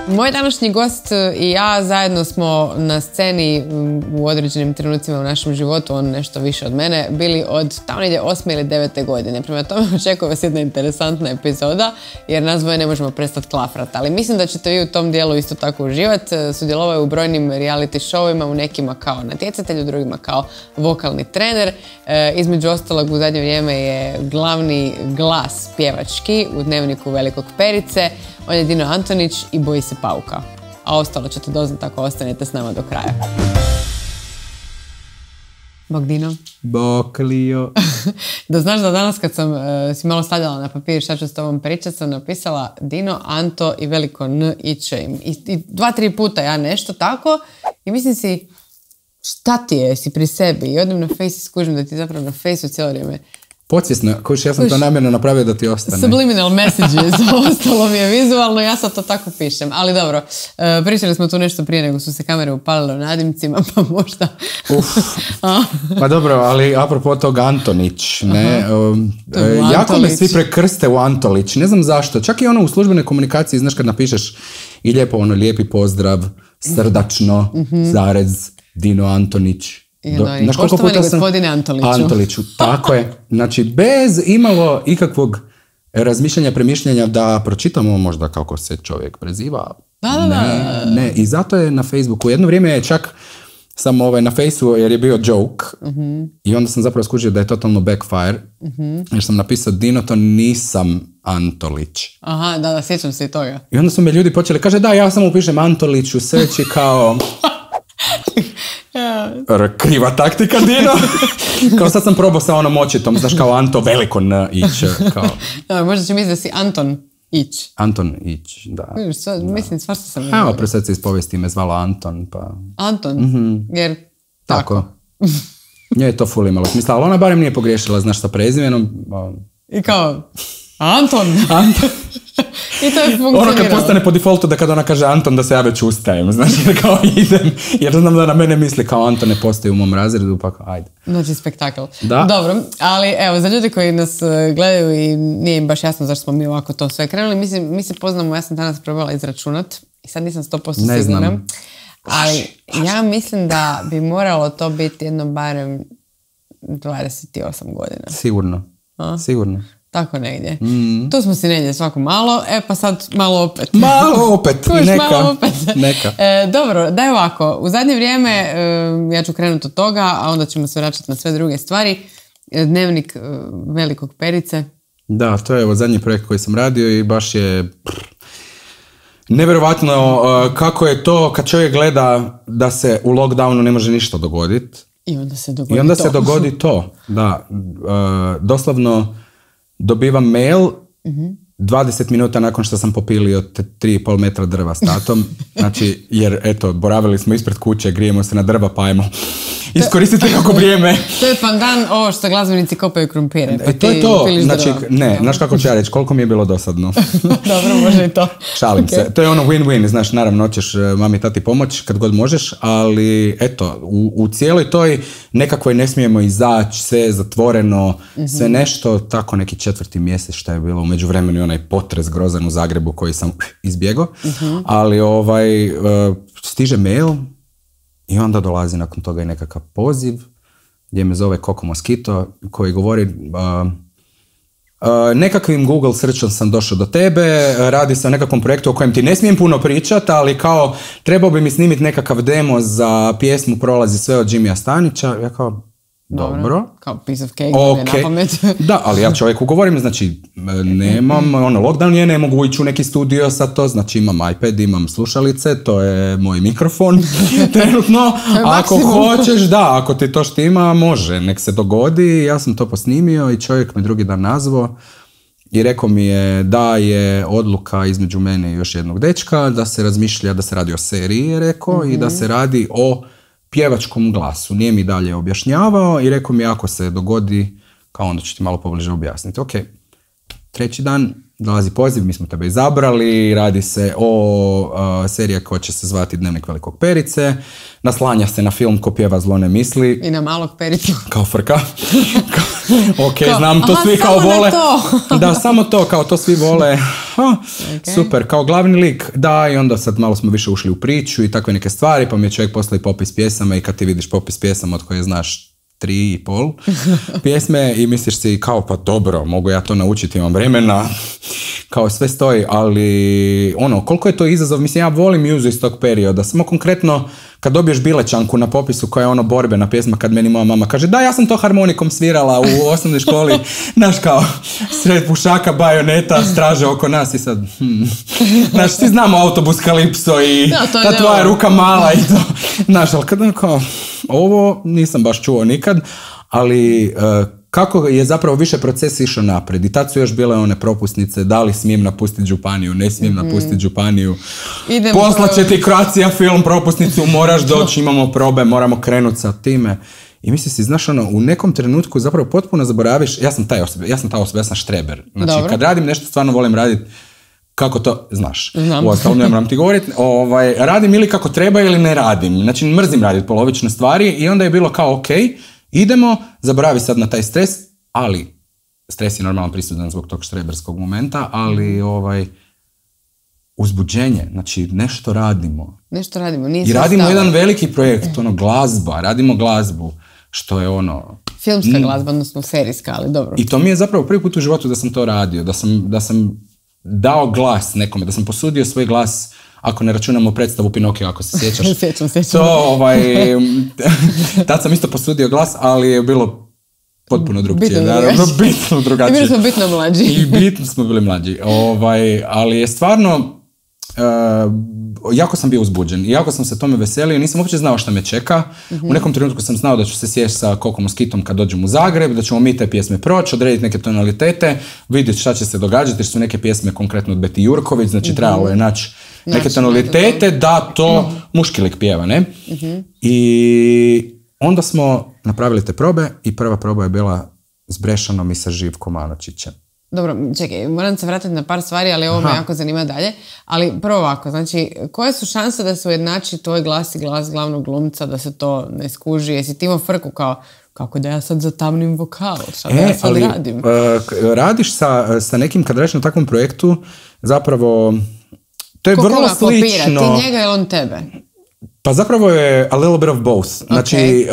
Moj današnji gost i ja zajedno smo na sceni u određenim trenucima u našem životu, on nešto više od mene, bili od tamo negdje 8. ili 9. godine. Prema tome očekuje vas jedna interesantna epizoda, jer nas dvoje ne možemo prestati klafrati. Ali mislim da ćete vi u tom dijelu isto tako uživati. Sudjelovao je u brojnim reality showima, u nekima kao natjecatelj, u drugima kao vokalni trener. Između ostalog u zadnje vrijeme je glavni glas pjevački u Dnevniku Velikog Perice. On je Dino Antonić i boji se pauka. A ostalo ćete doznati ako ostanete s nama do kraja. Bog Dino. Bog Lio. Da znaš da danas kad sam si malo stavljala na papir šta ću s tobom pričati, sam napisala Dino, Anto i veliko N i Č. I 2-3 puta ja nešto tako i mislim si šta ti je, si pri sebi i odem na Face i skužim da ti zapravo na Faceu cijelo vrijeme. Podsvjesno, kojiš, ja sam to namjerno napravio da ti ostane. Subliminal messages, ostalo mi je vizualno, ja sad to tako pišem. Ali dobro, pričali smo tu nešto prije nego su se kamere upalile u nadimcima, pa možda... Pa dobro, ali apropo tog Antonić, ne? Jako me svi prekrste u Antolić, ne znam zašto. Čak i ono u službenoj komunikaciji, znaš kad napišeš i lijepo ono, lijepi pozdrav, srdačno, zarez, Dino Antonić. Poštovani gospodine Antoliću, tako je. Znači, bez imalo ikakvog razmišljanja, premišljanja da pročitamo možda kako se čovjek preziva. Ne. I zato je na Facebooku. Jedno vrijeme je čak sam na Faceu jer je bio joke i onda sam zapravo skužio da je totalno backfire jer sam napisao Dino, to nisam Antolić. Aha, da, sjećam se i toga. I onda su me ljudi počeli, kaže da, ja samo upišem Antolić u search kao... Kriva taktika, Dino. Kao sad sam probao sa onom očitom, znaš, kao Anto veliko N ić. Kao... možda će misliti da si Anton Ić. Anton Ić, da. Mislim, svašta sam... Evo, pre sad se iz povijesti me zvala Anton, pa... Anton? Jer... Tako. Nje je to ful imalo smisla, ali ona barem nije pogriješila, znaš, sa prezimenom. I kao... Anton! I to je funkcioniralo. Ono kad postane po defaultu da kad ona kaže Anton da se ja već ustajem, znaš, jer kao idem, jer znam da na mene misli kao Anton ne postoji u mom razredu, pa kao ajde. Znači spektakl. Da. Dobro, ali evo, za ljudi koji nas gledaju i nije im baš jasno zašto smo mi ovako to sve krenuli, mi se poznamo, ja sam danas probala izračunat i sad nisam 100% sigurna. Ali ja mislim da bi moralo to biti jedno barem 28 godina. Sigurno. Sigurno. Tako negdje. Tu smo si negdje svako malo, pa sad malo opet. Malo opet, neka. Malo opet. Neka. Dobro, daj ovako. U zadnje vrijeme, ja ću krenuti od toga, a onda ćemo se vraćati na sve druge stvari. Dnevnik Velikog Perice. Da, to je zadnji projekt koji sam radio i baš je... nevjerovatno kako je to kad čovjek gleda da se u lockdownu ne može ništa dogoditi. I onda se dogodi to. Da, doslovno dobivam mail 20 minuta nakon što sam popilio 3,5 metra drva s tatom. Znači, jer eto, boravili smo ispred kuće, grijemo se na drva, pa ajmo iskoristiti kako vrijeme. To je pandan ovo što glazbenici kopaju krumpire. Pa to je to. Znači, ne, znaš kako ću ja reći, koliko mi je bilo dosadno. Dobro, može i to. Šalim se. To je ono win-win, znaš, naravno, hoćeš mami, tati pomoć kad god možeš, ali eto, u cijeloj toj nekakvoj ne smijemo izaći, sve zatvoreno, sve nešto, tako neki 4. mjesec što je bilo u međuvremenu i onaj potres grozan u Zagrebu koji sam izbjegao, ali stiže mail i onda dolazi nakon toga i nekakav poziv gdje me zove Coco Mosquito koji govori nekakvim Google searchom sam došao do tebe, radi se o nekakvom projektu o kojem ti ne smijem puno pričati, ali kao trebao bi mi snimiti nekakav demo za pjesmu Prolazi sve od Jimmya Stanića. Ja kao, dobro. Kao piece of cake, okay. Na pamet. Da, ali ja čovjek ugovorim, znači nemam, lockdown je, ne mogu ići u neki studio sad to, znači imam iPad, imam slušalice, to je moj mikrofon trenutno, ako hoćeš, da, ako ti to štima, može, nek se dogodi, ja sam to posnimio i čovjek me drugi dan nazvao i rekao mi je da je odluka između mene i još jednog dečka, da se razmišlja da se radi o seriji, je rekao, i da se radi o pjevačkom glasu. Nije mi dalje objašnjavao i rekao mi ako se dogodi, kao onda ću ti malo pobliže objasniti. Ok, 3. dan dolazi poziv, mi smo tebe izabrali, radi se o serija koja će se zvati Dnevnik Velikog Perice, naslanja se na film Ko pjeva zlo ne misli. I na Malog Pericu. Kao frka. Ok, znam, to svi kao vole. Da, samo to, kao to svi vole. super, kao glavni lik, da, i onda sad malo smo više ušli u priču i takve neke stvari, pa mi je čovjek poslao i popis pjesama i kad ti vidiš popis pjesama od koje znaš 3,5 pjesme i misliš si kao pa dobro, mogu ja to naučiti, imam vremena, kao sve stoji, ali koliko je to izazov, mislim ja volim Muzu iz tog perioda, samo konkretno kad dobiješ Bilečanku na popisu koja je borbena pjesma, kad meni moja mama kaže da ja sam to harmonikom svirala u osnovnoj školi, znaš kao sred pušaka, bajoneta, straže oko nas i sad znaš, svi znamo Autobus Kalipso i ta tvoja ruka mala i to, znaš, ali kad kao ovo nisam baš čuo nikad, ali kako je zapravo više proces išao naprijed i tad su još bile one propusnice, da li smijem napustiti županiju, ne smijem napustiti županiju, poslaće ti Croatia film propusnicu, moraš doći, imamo probe, moramo krenuti sa time. I misliš si, znaš, u nekom trenutku zapravo potpuno zaboraviš, ja sam ta osoba, ja sam štreber. Znači, dobro, kad radim nešto, stvarno volim raditi kako to, znaš, uostalom ne moram ti govoriti, radim ili kako treba ili ne radim. Znači, mrzim raditi polovične stvari i onda je bilo kao, ok, idemo, zaboravi sad na taj stres, ali stres je normalno prisutan zbog tog štreberskog momenta, ali uzbuđenje, znači nešto radimo. Nešto radimo, nije i radimo jedan veliki projekt, glazba, radimo glazbu, što je filmska glazba, odnosno serijska, ali dobro. I to mi je zapravo prvi put u životu da sam to radio, da sam dao glas nekome, da sam posudio svoj glas, ako ne računamo predstavu Pinokio, ako se sjećaš. Sjećam. To, tad sam isto posudio glas, ali je bilo potpuno drugčije. Bitno drugačije. I bili smo bitno mlađi. I bitno smo bili mlađi. Ali je stvarno, jako sam bio uzbuđen i jako sam se tome veselio, nisam uopće znao šta me čeka. U nekom trenutku sam znao da ću se sjesti sa Kokom Moskitom kad dođem u Zagreb, da ćemo mi te pjesme proći, odrediti neke tonalitete, vidjeti šta će se događati, jer su neke pjesme konkretno od Beti Jurković, znači trebalo je naći neke tonalitete da to muški lik pjeva, ne? I onda smo napravili te probe i prva proba je bila s Brešanom i sa Živkom Anočićem. Dobro, čekaj, moram se vratiti na par stvari, ali ovo me jako zanima dalje. Ali prvo ovako, znači, koje su šanse da se ujednači tvoj glas i glas glavnog glumca, da se to ne skuži? Jesi ti imao frku kao, kako da ja sad zatamnim vokal? Šta da ja sad radim? Radiš sa nekim, kad radiš na takvom projektu, zapravo, to je vrlo slično. Ti njega ili on tebe? Pa zapravo je a little bit of both. Znači,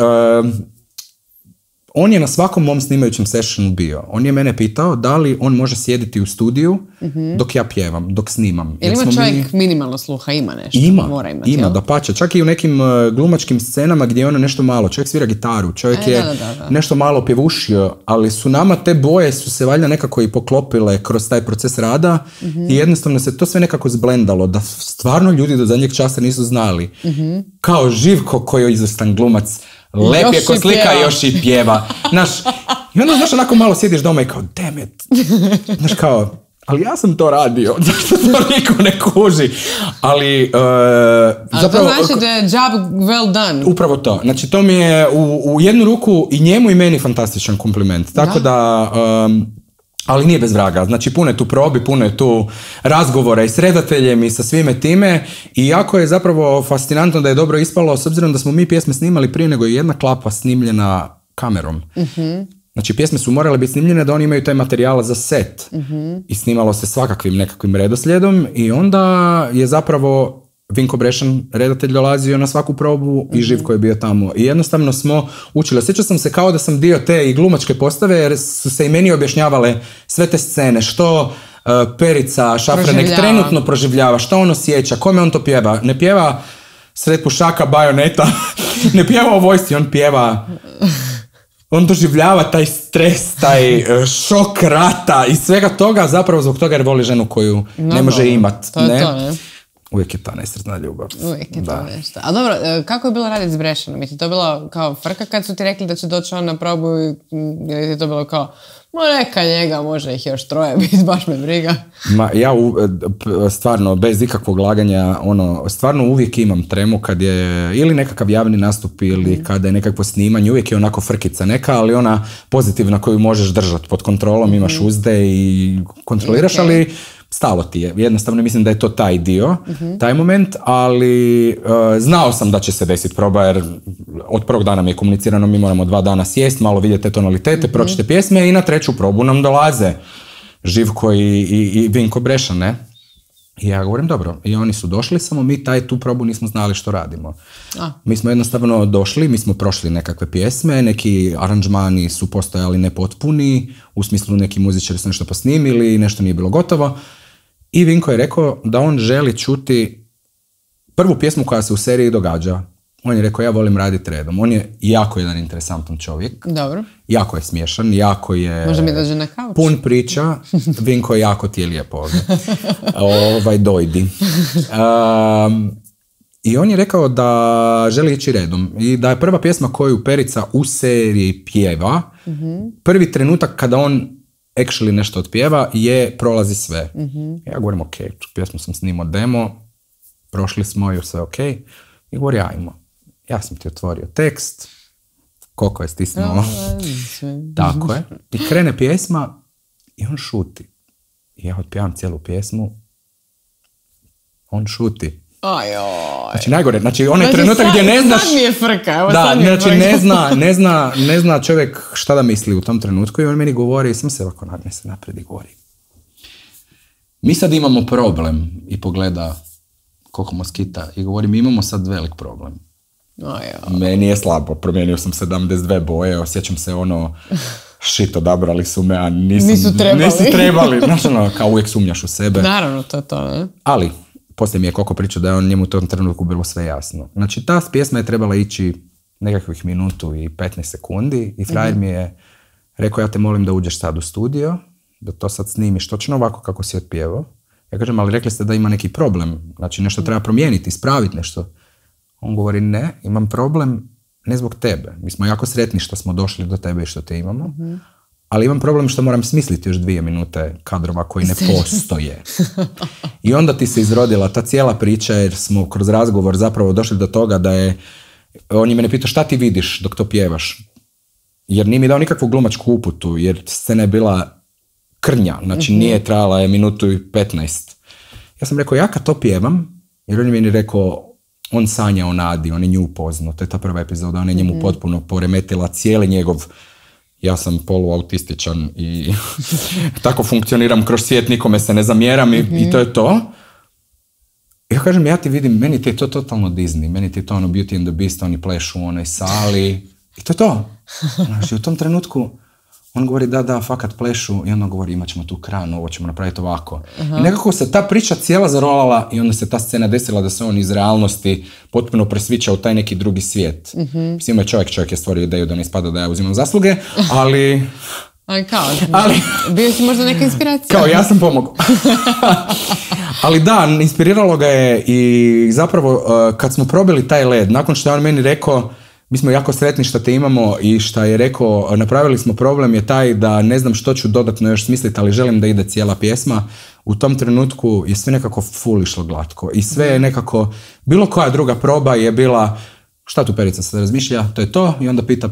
on je na svakom mom snimajućem sessionu bio. On je mene pitao da li on može sjediti u studiju dok ja pjevam, dok snimam. Ili ima čovjek minimalno sluha, ima nešto? Ima, dapače. Čak i u nekim glumačkim scenama gdje je ono nešto malo. Čovjek svira gitaru, čovjek je nešto malo pjevušio, ali su nama te boje su se valjda nekako i poklopile kroz taj proces rada i jednostavno se to sve nekako zblendalo, da stvarno ljudi do zadnjeg časa nisu znali. Kao Živko koji je izvrstan glumac, lep je ko slika i još i pjeva. I onda, znaš, onako malo sjediš doma i kao, damn it. Znaš, kao, ali ja sam to radio. Zašto to niko ne kuži? Ali, zapravo... to znači da je job well done. Upravo to. Znači, to mi je u jednu ruku i njemu i meni fantastičan kompliment. Tako da... ali nije bez vraga. Znači, puno je tu probi, puno je tu razgovora i s redateljem i sa svime time i jako je zapravo fascinantno da je dobro ispalo, s obzirom da smo mi pjesme snimali prije nego je jedna klapa snimljena kamerom. Znači, pjesme su morale biti snimljene da oni imaju taj materijal za set i snimalo se svakakvim nekakvim redoslijedom i onda je zapravo Vinko Brešan, redatelj, dolazio na svaku probu i Živko je bio tamo. I jednostavno smo učili. Osjećao sam se kao da sam dio te i glumačke postave, jer su se i meni objašnjavale sve te scene. Što Perica Šafranek trenutno proživljava, što on osjeća, kome on to pjeva. Ne pjeva sred pušaka bajoneta, ne pjeva o vojsci, on pjeva... On doživljava taj stres, taj šok rata i svega toga, zapravo zbog toga jer voli ženu koju ne može imati. To je to, ne? Uvijek je ta nesretna ljubav. Uvijek je to nešto. A dobro, kako je bilo raditi s Brešanom? Je ti to bilo kao frka kad su ti rekli da će doći on na probu ili je to bilo kao neka njega, može ih još 3 biti, baš me briga. Ja stvarno, bez ikakvog laganja, stvarno uvijek imam tremu kad je ili nekakav javni nastup ili kada je nekakvo snimanje, uvijek je onako frkica neka, ali ona pozitivna koju možeš držati pod kontrolom, imaš uzde i kontroliraš, ali stalo ti je. Jednostavno mislim da je to taj dio, taj moment, ali znao sam da će se desiti proba jer od prvog dana mi je komunicirano, mi moramo 2 dana sjest, malo vidjeti te tonalitete, pročite pjesme i na 3. probu nam dolaze Živko i Vinko Breša, ne? I ja govorim, dobro, i oni su došli, samo mi tu probu nismo znali što radimo. Mi smo jednostavno došli, mi smo prošli nekakve pjesme, neki aranžmani su postojali nepotpuni, u smislu neki muzičari su nešto posnimili, nešto nije bilo gotovo. I Vinko je rekao da on želi čuti prvu pjesmu koja se u seriji događa. On je rekao, ja volim raditi redom. On je jako jedan interesantan čovjek. Dobro. Jako je smiješan, jako je... Može mi dođe na kauč. Pun priča. Vinko je jako ti je lijepo ovdje. Dojdi. I on je rekao da želi ići redom. I da je prva pjesma koju Perica u seriji pjeva, prvi trenutak kada on actually nešto otpjeva je Prolazi sve. Ja govorim, ok, pjesmu sam snimao demo, prošli smo ju, sve ok. I govori, ajmo. Ja sam ti otvorio tekst, koliko je stisnuo. Tako je. I krene pjesma i on šuti. I ja otpjevam cijelu pjesmu. On šuti. Znači najgore, znači onaj trenutak gdje ne znaš... Sad mi je frka, ne zna čovjek šta da misli u tom trenutku i on meni govori, sam se ovako nagne se napred i govori. Mi sad imamo problem i pogleda koliko moskita i govori, mi imamo sad velik problem. Meni je slabo, promijenio sam 72 boje, osjećam se shit, odabrali su me, a nisu trebali. Znaš, kao uvijek sumnjaš u sebe. Naravno, to, ne? Ali, poslije mi je Koko pričao da je njemu u tom trenutku bilo sve jasno. Znači, ta pjesma je trebala ići nekakvih minutu i 15 sekundi i frajer mi je rekao, ja te molim da uđeš sad u studio, da to sad snimiš točno ovako kako si otpjevao. Ja kažem, ali rekli ste da ima neki problem, znači nešto treba promijeniti, ispraviti nešto. On govori, ne, imam problem ne zbog tebe. Mi smo jako sretni što smo došli do tebe i što te imamo, ali imam problem što moram smisliti još 2 minute kadrova koji ne postoje. I onda ti se izrodila ta cijela priča jer smo kroz razgovor zapravo došli do toga da je, on je mene pitao šta ti vidiš dok to pjevaš? Jer nije mi dao nikakvu glumačku uputu, jer scena je bila krnja, znači nije trajala je minutu i 15. Ja sam rekao, ja kad to pjevam, jer on je meni rekao, on sanja o Nadi, on je nju upoznao, to je ta prva epizoda, on je njemu potpuno poremetila cijeli njegov, ja sam poluautističan i tako funkcioniram kroz svijet, nikome se ne zamjeram i to je to. Ja kažem, ja ti vidim, meni ti je to totalno Disney, meni ti je to Beauty and the Beast, oni plešu u onoj sali i to je to. Znači, u tom trenutku on govori da, fakat plešu i onda govori imat ćemo tu kranu, ovo ćemo napraviti ovako. I nekako se ta priča cijela zarolala i onda se ta scena desila da se on iz realnosti potpuno presvića u taj neki drugi svijet. Mislim, ima čovjek je stvorio ideju da ne ispada da ja uzimam zasluge, ali... Bio si možda neka inspiracija. Kao, ja sam pomogao. Ali da, inspiriralo ga je i zapravo kad smo probili taj led, nakon što je on meni rekao, mi smo jako sretni što te imamo i što je rekao, napravili smo problem je taj da ne znam što ću dodatno još smisliti, ali želim da ide cijela pjesma. U tom trenutku je sve nekako full išlo glatko i sve je nekako, bilo koja druga proba je bila, šta tu Perica se razmišlja, to je to i onda pita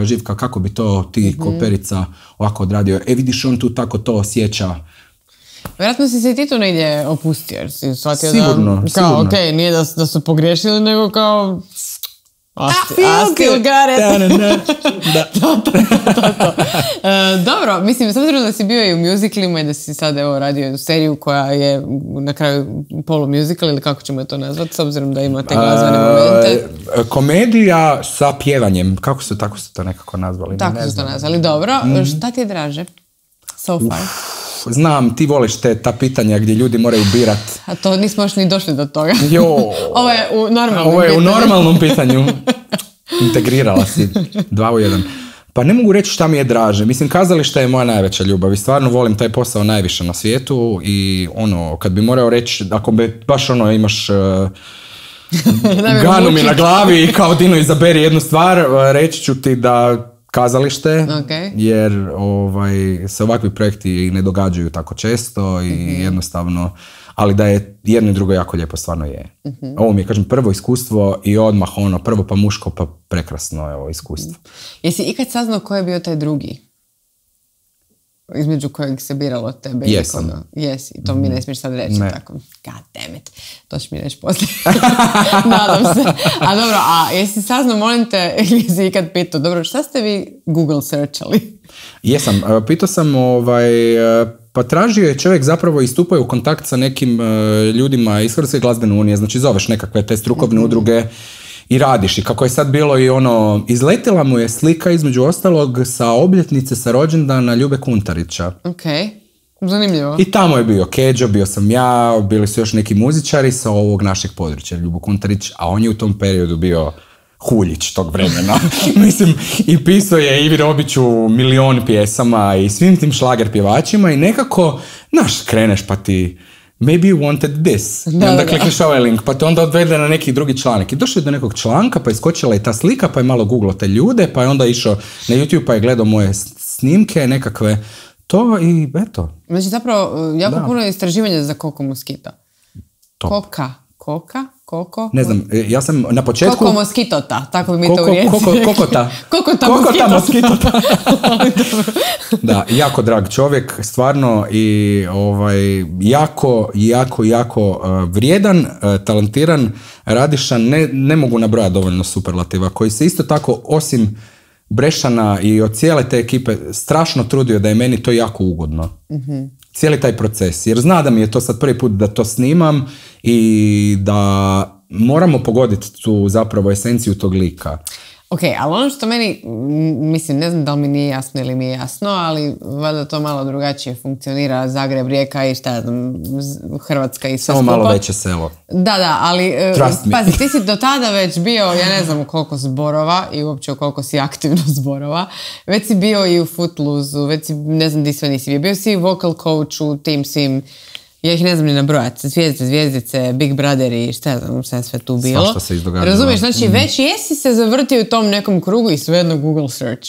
Živka kako bi to ti ko Perica ovako odradio. Vidiš, on tu tako to osjeća. Vjerojatno si se ti tu negdje opustio jer si shvatio sigurno. Ok, nije da su pogriješili, nego kao... I still got it. To. Dobro, mislim, s obzirom da si bio i u musicalima i da si sad radio seriju koja je na kraju polu-musical ili kako ćemo to nazvati, s obzirom da ima te glazbene momente. Komedija sa pjevanjem, tako su to nekako nazvali. Tako su to nazvali, dobro. Šta ti je draže? So far. Znam, ti voliš ta pitanja gdje ljudi moraju birat. A to nismo još ni došli do toga. Ovo je u normalnom pitanju. Integrirala si 2 u 1. Pa ne mogu reći šta mi je draže. Mislim, kazalište je moja najveća ljubav i stvarno volim taj posao najviše na svijetu i kad bi morao reći, ako bi baš imaš ganu mi na glavi i kao Dino izaberi jednu stvar, reći ću ti da kazalište, jer se ovakvi projekti ne događaju tako često i jednostavno, ali da je jedno i drugo jako lijepo, stvarno je. Ovo mi je, kažem, prvo iskustvo i odmah prvo pa muško pa prekrasno je ovo iskustvo. Jesi ikad saznao ko je bio taj drugi? Između kojeg se biralo od tebe? Jesam. Jesi, to mi ne smiješ sad reći. Tako. God damn it. To ću mi reći poslije. Nadam se. A dobro, jesi saznao, molim te, ili si ikad pitao, dobro, šta ste vi Google searchali? Jesam, pitao sam pa tražio je čovjek zapravo i stupao u kontakt sa nekim ljudima iz Hrvatske glazbene unije, znači zoveš nekakve te strukovne udruge i radiš. I kako je sad bilo i izletila mu je slika između ostalog sa obljetnice sa rođendana Ljube Kuntarića. Ok, zanimljivo. I tamo je bio Keđo, bio sam ja, bili su još neki muzičari sa ovog našeg područja, Ljubo Kuntarić, a on je u tom periodu bio Huljić tog vremena. Mislim, i pisao je Ivi Robiću milion pjesama i svim tim šlager pjevačima i nekako, kreneš pa ti maybe you wanted this. I onda klikneš ovaj link, pa te onda odvede na neki drugi članak. I došao je do nekog članka, pa je iskočila i ta slika, pa je malo googlao te ljude, pa je onda išao na YouTube, pa je gledao moje snimke, nekakve to i eto. Znači zapravo jako puno istraživanja za Koko Moskita. Koko? Ne znam, ja sam na početku... Koko Moskitota, tako bi mi to u Rijeci. Kokota Moskitota. Da, jako drag čovjek, stvarno i jako vrijedan, talentiran, radišan, ne mogu nabrojati dovoljno superlativa, koji se isto tako, osim Brešana i od cijele te ekipe, strašno trudio da je meni to jako ugodno. Cijeli taj proces, jer zna da mi je to sad prvi put da to snimam i da moramo pogoditi tu zapravo esenciju tog lika. Ok, ali ono što meni, mislim, ne znam da li mi nije jasno ili mi je jasno, ali valjda to malo drugačije funkcionira, Zagreb, Rijeka i šta znam, Hrvatska i sve samo skupa. Malo veće selo. Da, ali pazi, ti si do tada već bio, ja ne znam u koliko zborova i uopće u koliko si aktivno zborova, već si bio i u Footloose-u, već si, ne znam di sve nisi bio si vocal coach u tim svim, ja ih ne znam ni nabrojati, zvijezdice, Big Brother i šta znam, sve tu bilo. Svašta se izdogađalo. Razumiješ, znači već jesi se zavrtio u tom nekom krugu i svejedno Google search.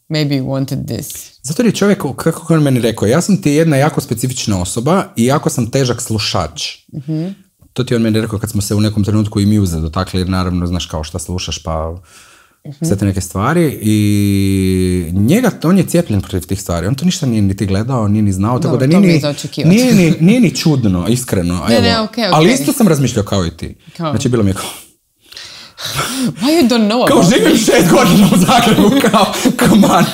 Maybe you wanted this. Zato je čovjek, kako on meni rekao, ja sam ti jedna jako specifična osoba i jako sam težak slušač. To ti on meni rekao kad smo se u nekom trenutku i muse dotakli, jer naravno znaš kao šta slušaš, pa sve te neke stvari i on je cijepljen protiv tih stvari, on to ništa nije niti gledao, nije ni znao, tako da nije ni čudno, iskreno. Okay. Ali isto sam razmišljao kao i ti. Znači bilo mi je kao why you don't know kao živim 6 godina u Zagrebu, kao come on.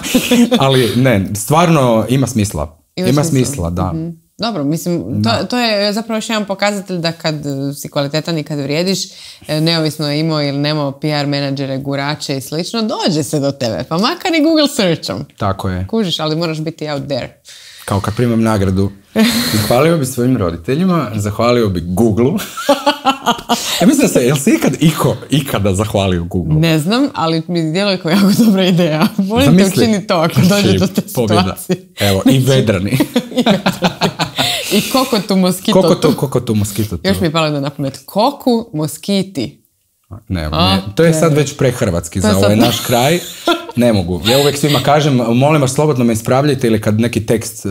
Ali ne, stvarno ima smisla. Ima smisla, da. Dobro, mislim, to je zapravo još jedan pokazatelj da kad si kvalitetan i kad vrijediš, neovisno je imao ili nemao PR menadžere, gurače i slično, dođe se do tebe, pa makar i Google searchom. Tako je. Kužiš, ali moraš biti out there. Kao kad primam nagradu, zahvalio bi svojim roditeljima, zahvalio bi Google-u. Ja mislim da jel si ikada zahvalio Google? Ne znam, ali mi djeluje kao jako dobra ideja. Volim te učiniti to ako dođe do te situacije. Evo, i vedrani. I Kokotu Moskitotu. Kokotu Moskitotu. Još mi je palo na pamet. Koku Moskiti. Ne, to je sad već prehrvatski za ovaj naš kraj. Ne mogu. Ja uvijek svima kažem, molim vas slobodno me ispravljajte ili kad neki tekst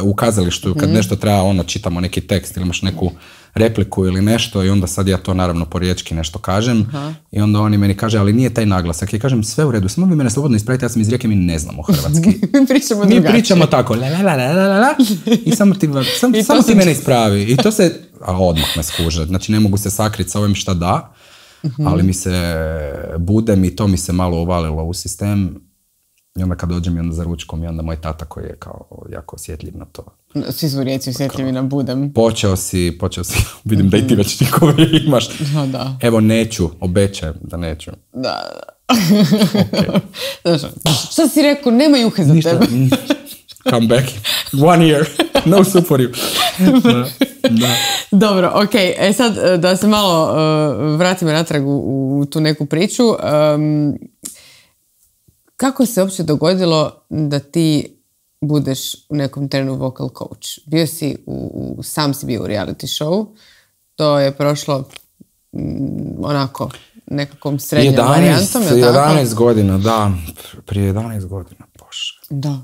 u kazalištu, kad nešto treba, čitamo neki tekst ili imaš neku repliku ili nešto i onda sad ja to naravno po riječki nešto kažem i onda oni meni kaže, ali nije taj naglasak. Ja kažem, sve u redu, samo vi mene slobodno ispravite, ja sam iz Rijeke, mi ne znamo hrvatski. Mi pričamo tako, i samo ti mene ispravi. I to se, odmah me skuže, znači ne mogu se sakriti sa ovim šta da. Ali mi se budem i to mi se malo uvalilo u sistem i onda kad dođem i onda za ručkom i onda moj tata koji je kao jako osjetljiv na to. Svi su Rijeci osjetljivi na budem. Počeo si, vidim da i ti već tikove imaš. Da. Evo neću, obećajem da neću. Da. Okay. Šta si rekao, nema juhe za tebe. Come back, 1 year, no soup for you. Da. Dobro, ok, sad da se malo vratimo natrag u tu neku priču. Kako se uopće dogodilo da ti budeš u nekom trenu vocal coach? Bio si sam si bio u reality show, to je prošlo onako nekakvom srednjom varijantom. 11 godina, da, prije 11 godina, bože. Da.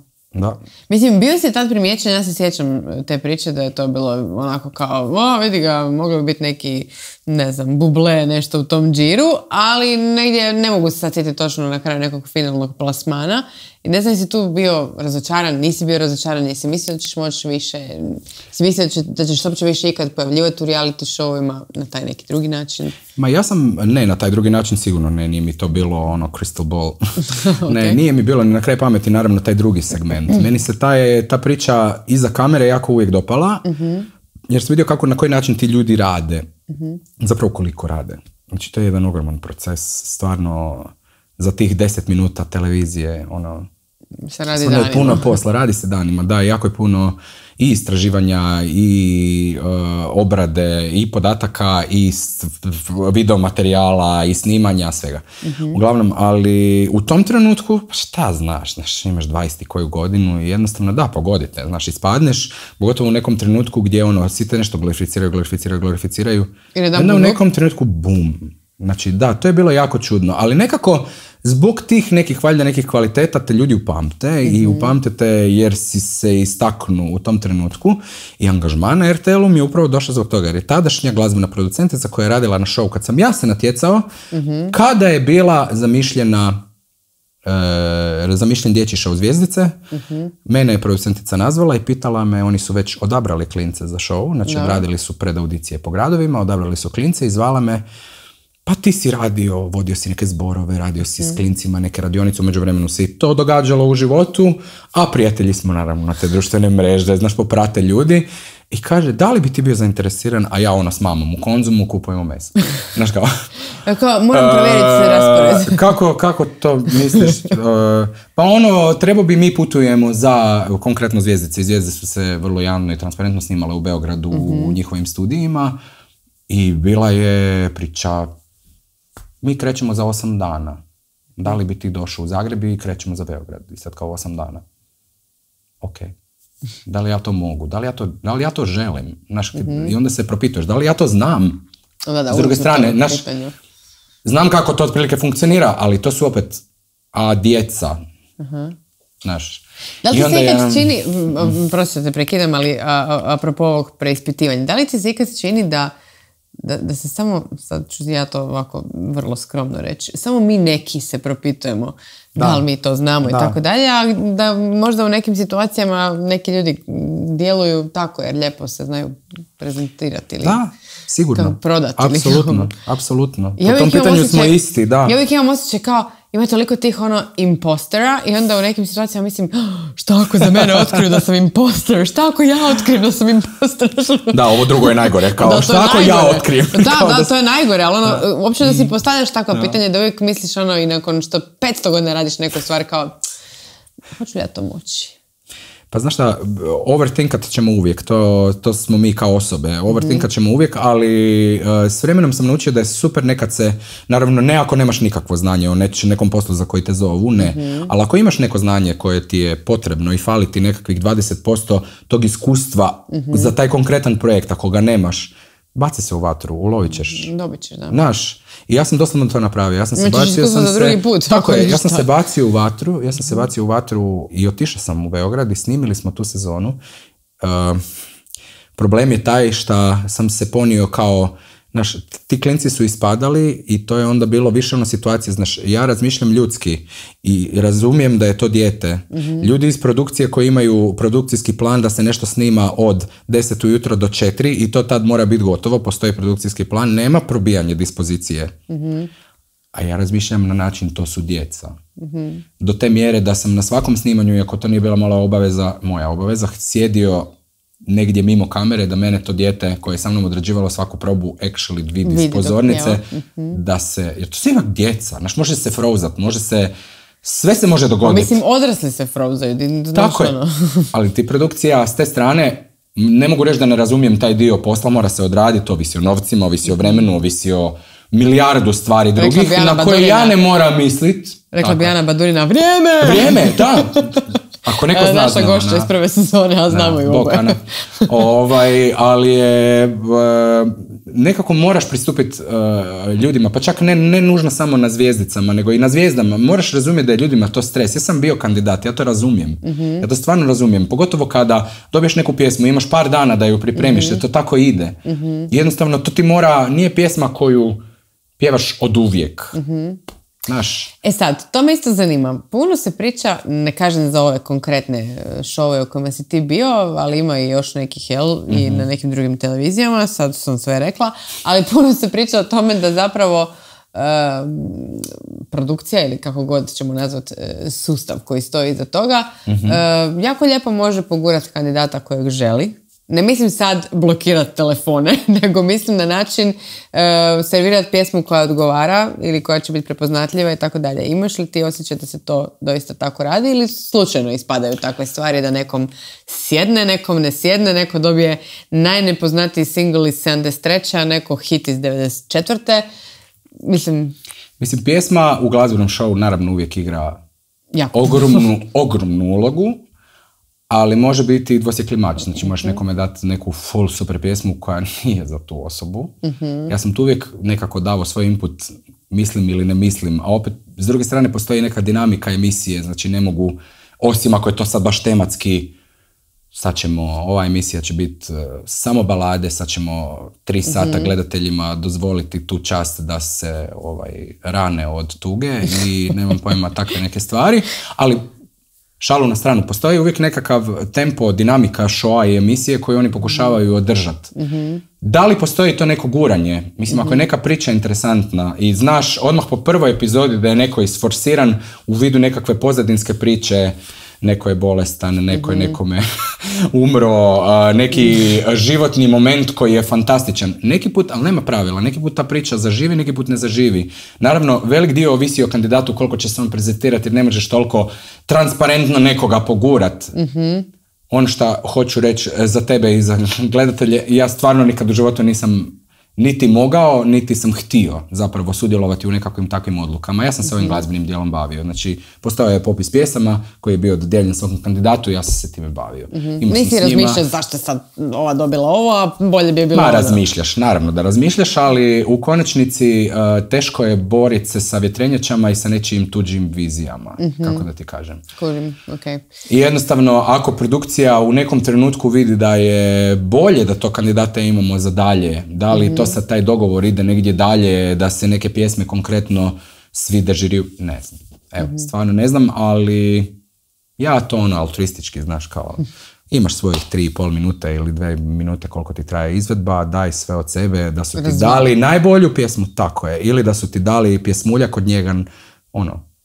Mislim, bio si tad primijećen, ja se sjećam te priče da je to bilo onako kao, vidi ga, moglo bi biti neki, ne znam, buble, nešto u tom džiru, ali negdje ne mogu se sad sjetiti točno na kraju nekog finalnog plasmana. I ne znam, si tu bio razočaran, nisi bio razočaran, nisi mislio da ćeš moći više, si mislio da ćeš uopće više ikad pojavljivati u reality showima na taj neki drugi način? Ma ja sam, ne, na taj drugi način sigurno ne, nije mi to bilo crystal ball. Okay. Ne, nije mi bilo ni na kraj pameti naravno taj drugi segment. moment. Meni se ta priča iza kamere jako uvijek dopala, jer sam vidio na koji način ti ljudi rade. Zapravo koliko rade. Znači, to je jedan ogroman proces. Stvarno, za tih 10 minuta televizije, se radi danima. Je puno posla, radi se danima, da, jako je puno i istraživanja, i obrade, i podataka, i video materijala, i snimanja, svega. Uglavnom, ali u tom trenutku, šta znaš, imaš 20 koju godinu i jednostavno da, pogodite, ispadneš, pogotovo u nekom trenutku gdje svi te nešto glorificiraju. Onda u nekom trenutku, bum. Znači, da, to je bilo jako čudno, ali nekako zbog tih nekih kvaliteta te ljudi upamte i upamtete jer si se istaknu u tom trenutku i angažman na RTL-u mi je upravo došao zbog toga jer je tadašnja glazbena producentica koja je radila na show kad sam ja se natjecao, kada je bila zamišljen dječji show Zvjezdice, mene je producentica nazvala i pitala me, oni su već odabrali klince za show, znači radili su predaudicije po gradovima, odabrali su klince i zvala me, pa ti si vodio si neke zborove, radio si s klincima neke radionice, u međuvremenu si to događalo u životu, a prijatelji smo naravno na te društvene mreže, poprate ljudi i kaže, da li bi ti bio zainteresiran, a ja s mamom u Konzumu kupujemo meso. Znaš kao? Moram provjeriti se raspored. Kako to misliš? Pa trebao bi mi putujemo za konkretno Zvjezdice. Zvijezde su se vrlo javno i transparentno snimale u Beogradu u njihovim studijima i bila je priča, mi krećemo za 8 dana. Da li bi ti došao u Zagreb i krećemo za Beograd? I sad kao 8 dana. Ok. Da li ja to mogu? Da li ja to želim? I onda se propituješ, da li ja to znam? S druge strane, znam kako to otprilike funkcionira, ali to su opet djeca. Da li ti se ikad čini, prosto te prekidam, ali apropo ovog preispitivanja, da li ti se ikad čini da se samo, sad ću ja to ovako vrlo skromno reći, samo mi neki se propitujemo da li mi to znamo i tako dalje, a da možda u nekim situacijama neki ljudi djeluju tako jer lijepo se znaju prezentirati ili sigurno. Prodati. Apsolutno. Po tom pitanju smo isti, da. Ja uvijek imam osjećaj kao ima toliko tih impostera i onda u nekim situacijama mislim šta ako za mene otkriju da sam imposter, šta ako ja otkrijem da sam imposter. Da, ovo drugo je najgore, kao šta ako ja otkrijem. Da, to je najgore, ali uopće da si postavljaš takvo pitanje da uvijek misliš i nakon što 500 godina radiš neku stvar kao hoću li ja to moći? Pa znaš šta, overthinkat ćemo uvijek, to smo mi kao osobe, overthinkat ćemo uvijek, ali s vremenom sam naučio da je super nekad se, naravno ne ako nemaš nikakvo znanje o nekom poslu za koji te zovu, ne, ali ako imaš neko znanje koje ti je potrebno i fali ti nekakvih 20% tog iskustva za taj konkretan projekt, ako ga nemaš, baci se u vatru, ulovit ćeš. Dobit ćeš, da. Znaš, i ja sam doslovno to napravio. Ja sam se bacio u vatru i otišao sam u Beograd i snimili smo tu sezonu. Problem je taj što sam se ponio kao, znaš, ti klinci su ispadali i to je onda bilo više situacije, znaš, ja razmišljam ljudski i razumijem da je to dijete. Ljudi iz produkcije koji imaju produkcijski plan da se nešto snima od 10 ujutro do 4 i to tad mora biti gotovo, postoji produkcijski plan, nema probijanje dispozicije. A ja razmišljam na način, to su djeca. Do te mjere da sam na svakom snimanju, iako to nije bila moja obaveza, sjedio negdje mimo kamere da mene to dijete koje je sa mnom odrađivalo svaku probu actually vidi s pozornice, da se, jer to su ipak djeca, znaš, može se frozat, sve se može dogoditi. Mislim, odrasli se frozaju. Tako je, ali ti produkcija s te strane, ne mogu reći da ne razumijem taj dio posla, mora se odraditi, ovisi o novcima, ovisi o vremenu, ovisi o milijardu stvari drugih na koje ja ne moram misliti. Rekla bi Ana Badurina, vrijeme, da. Ako neko zna, naša gošća iz prve sezone, a znamo i oboje. Ali je, nekako moraš pristupiti ljudima, pa čak ne nužno samo na Zvijezdicama, nego i na Zvijezdama. Moraš razumjeti da je ljudima to stres. Ja sam bio kandidat, ja to razumijem. Ja to stvarno razumijem. Pogotovo kada dobiješ neku pjesmu, imaš par dana da ju pripremiš, jer to tako ide. Jednostavno, to ti nije pjesma koju pjevaš od uvijek. Naš. Sad, to me isto zanima. Puno se priča, ne kažem za ove konkretne šove u kojima si ti bio, ali ima i još nekih, i na nekim drugim televizijama, sad sam sve rekla, ali puno se priča o tome da zapravo produkcija ili kako god ćemo nazvati sustav koji stoji iza toga, jako lijepo može pogurati kandidata kojeg želi. Ne mislim sad blokirati telefone, nego mislim na način servirati pjesmu koja odgovara ili koja će biti prepoznatljiva i tako dalje. Imaš li ti osjećaj da se to doista tako radi ili slučajno ispadaju takve stvari da nekom sjedne, nekom ne sjedne, neko dobije najnepoznatiji single iz 73. a neko hit iz 94. Mislim, pjesma u glazbenom šovu naravno uvijek igra ogromnu ulogu, ali može biti i dvosjekli mač. Znači možeš nekome dati neku full super pjesmu koja nije za tu osobu. Ja sam tu uvijek nekako dao svoj input, mislim ili ne mislim, a opet s druge strane postoji neka dinamika emisije, znači ne mogu, osim ako je to sad baš tematski, sad ćemo, ova emisija će biti samo balade, sad ćemo 3 sata gledateljima dozvoliti tu čast da se rane od tuge i nemam pojma takve neke stvari, ali šalu na stranu, postoji uvijek nekakav tempo, dinamika šoa i emisije koju oni pokušavaju održati. Da li postoji to neko guranje? Mislim, ako je neka priča interesantna i znaš odmah po prvoj epizodi da je neko isforsiran u vidu nekakve pozadinske priče, neko je bolestan, neko je nekome umro, neki životni moment koji je fantastičan. Neki put, ali nema pravila, neki put ta priča zaživi, neki put ne zaživi. Naravno, velik dio ovisi o kandidatu koliko će se on prezentirati jer ne možeš toliko transparentno nekoga pogurat. Ono što hoću reći za tebe i za gledatelje, ja stvarno nikad u životu nisam niti mogao, niti sam htio zapravo sudjelovati u nekakvim takvim odlukama. Ja sam se ovim glazbenim dijelom bavio. Znači, postojao je popis pjesama koji je bio dodijeljen svakom kandidatu i ja sam se time bavio. Nisi razmišljao zašto je sad ova dobila ovo, a bolje bi je bilo ovo. Razmišljaš, naravno da razmišljaš, ali u konačnici teško je boriti se sa vjetrenjačama i sa nečijim tuđim vizijama, kako da ti kažem. Kužim, okej. I jednostavno, ako produkcija u nekom trenutku vidi da je bolje da to kandidata imamo za dalje, da li to sad taj dogovor ide negdje dalje, da se neke pjesme konkretno svide žiriju, ne znam. Evo, stvarno ne znam, ali ja to altruistički, znaš, kao imaš svojih 3,5 minute ili 2 minute koliko ti traje izvedba, daj sve od sebe, da su ti dali najbolju pjesmu, tako je, ili da su ti dali pjesmuljak od njega,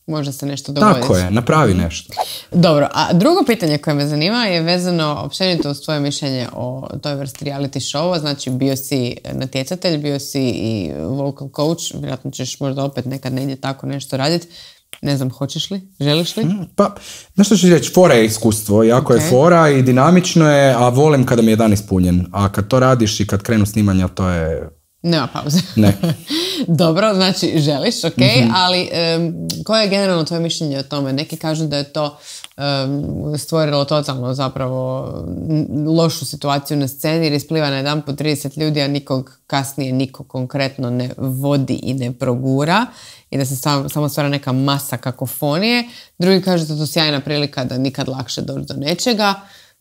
može se nešto dogoditi. Tako je, napravi nešto. Dobro, a drugo pitanje koje me zanima je vezano općenito uz tvoje mišljenje o toj vrsti reality showa. Znači, bio si natjecatelj, bio si i vocal coach, vjerojatno ćeš možda opet nekad negdje tako nešto raditi. Ne znam, hoćeš li? Želiš li? Pa, znaš što ću reći, fora je iskustvo, jako je fora i dinamično je, a volim kada mi je dan ispunjen. A kad to radiš i kad krenu snimanja, to je... Nema pauze. Ne. Dobro, znači želiš, ali koje je generalno tvoje mišljenje o tome? Neki kažu da je to stvorilo totalno zapravo lošu situaciju na sceni jer ispliva na jedan po 30 ljudi, a nikog kasnije niko konkretno ne vodi i ne progura i da se samo stvara neka masa kakofonije. Drugi kažu da je to sjajna prilika da nikad lakše doći do nečega,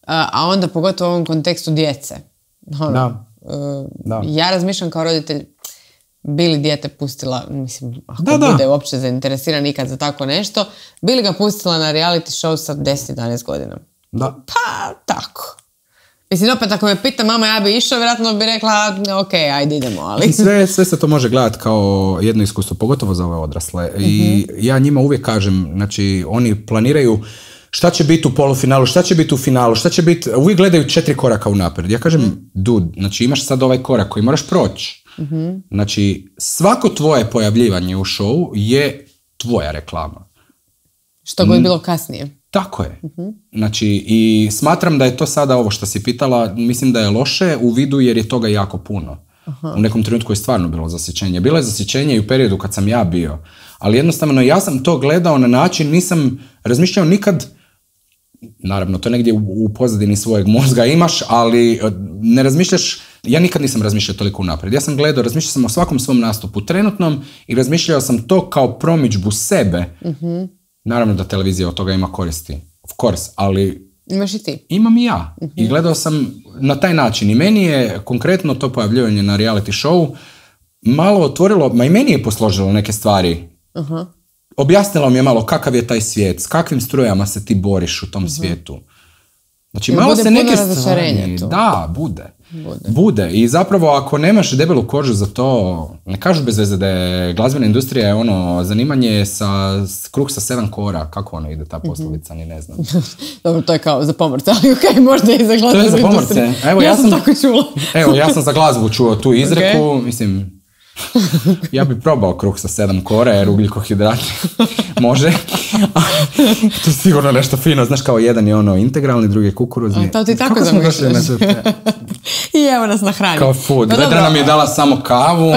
a onda pogotovo u ovom kontekstu djece. Da. Ja razmišljam kao roditelj, bi li dijete pustila, mislim, ako bude uopće zainteresiran nikad za tako nešto, bi li ga pustila na reality show sa 10-11 godina? Da. Pa, tako. Mislim, opet ako me pita mama, ja bi išao, vjerojatno bi rekla, ok, ajde idemo, ali... Sve se to može gledati kao jedno iskustvo, pogotovo za ove odrasle. I ja njima uvijek kažem, znači, oni planiraju šta će biti u polufinalu, šta će biti u finalu, šta će biti, uvijek gledaju 4 koraka unaprijed. Ja kažem, znači imaš sad ovaj korak koji moraš proći. Znači, svako tvoje pojavljivanje u showu je tvoja reklama. Što god bilo kasnije. Tako je. Znači, i smatram da je to sada ovo što si pitala, mislim da je loše u vidu jer je toga jako puno. U nekom trenutku je stvarno bilo zasjećenje. Bilo je zasjećenje i u periodu kad sam ja bio. Ali jednostavno ja sam to gledao na način, nisam razmišljao nikad, naravno to negdje u pozadini svojeg mozga imaš, ali ne razmišljaš, ja nikad nisam razmišljao toliko unaprijed. Ja sam gledao, razmišljao sam o svakom svom nastupu trenutnom i razmišljao sam to kao promidžbu sebe. Naravno da televizija od toga ima koristi, of course, ali imaš i ti. Imam i ja. I gledao sam na taj način. I meni je konkretno to pojavljivanje na reality show malo otvorilo, ma i meni je posložilo neke stvari. Objasnilo mi je malo kakav je taj svijet, s kakvim strujama se ti boriš u tom svijetu. Znači, jer malo bude se neke stvari... Da, bude. Bude. I zapravo ako nemaš debelu kožu za to, ne kažu bez veze da je glazbena industrija je ono zanimanje kruh sa 7 kora. Kako ono ide ta poslovica, ni ne znam. Dobro, to je kao za pomorce, ali okej, možda i za glazbenu industriju. To je za pomorce. Evo, ja sam tako čula. Evo, ja sam za glazbu čuo tu izreku, mislim... Ja bi probao kruh sa 7 kora jer ugljikohidrati može. To je sigurno nešto fino. Znaš, kao jedan je ono integralni, drugi je kukuruzni. To ti tako zamišljaš. I evo nas na hrani. Kao food. Vedra nam je dala samo kavu.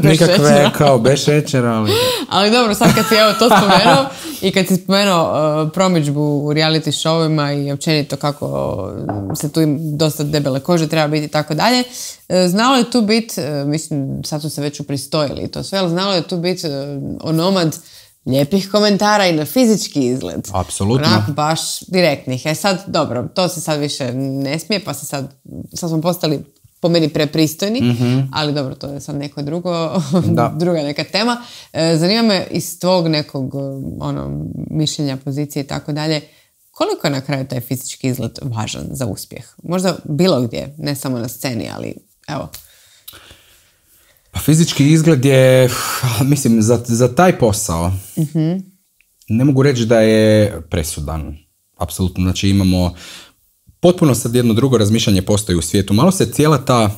Nikakve kao bez šećera. Ali dobro, sad kad si evo to spomenuo i kad si spomenuo promidžbu u reality showima i općenito kako se tu dosta debele kože treba biti i tako dalje, znalo je tu biti, mislim sad su se već upristojili i to sve, ali znalo je tu biti onomad lijepih komentara i na fizički izgled. Apsolutno. Onako baš direktnih. Sad, dobro, to se sad više ne smije, pa se sad smo postali po meni prepristojni, ali dobro, to je sad neko druga neka tema. Zanima me iz tvog nekog mišljenja, pozicije i tako dalje, koliko je na kraju taj fizički izgled važan za uspjeh? Možda bilo gdje, ne samo na sceni, ali evo. Pa fizički izgled je, mislim, za taj posao ne mogu reći da je presudan. Apsolutno, znači imamo potpuno sad jedno drugo razmišljanje postoji u svijetu. Malo se cijela ta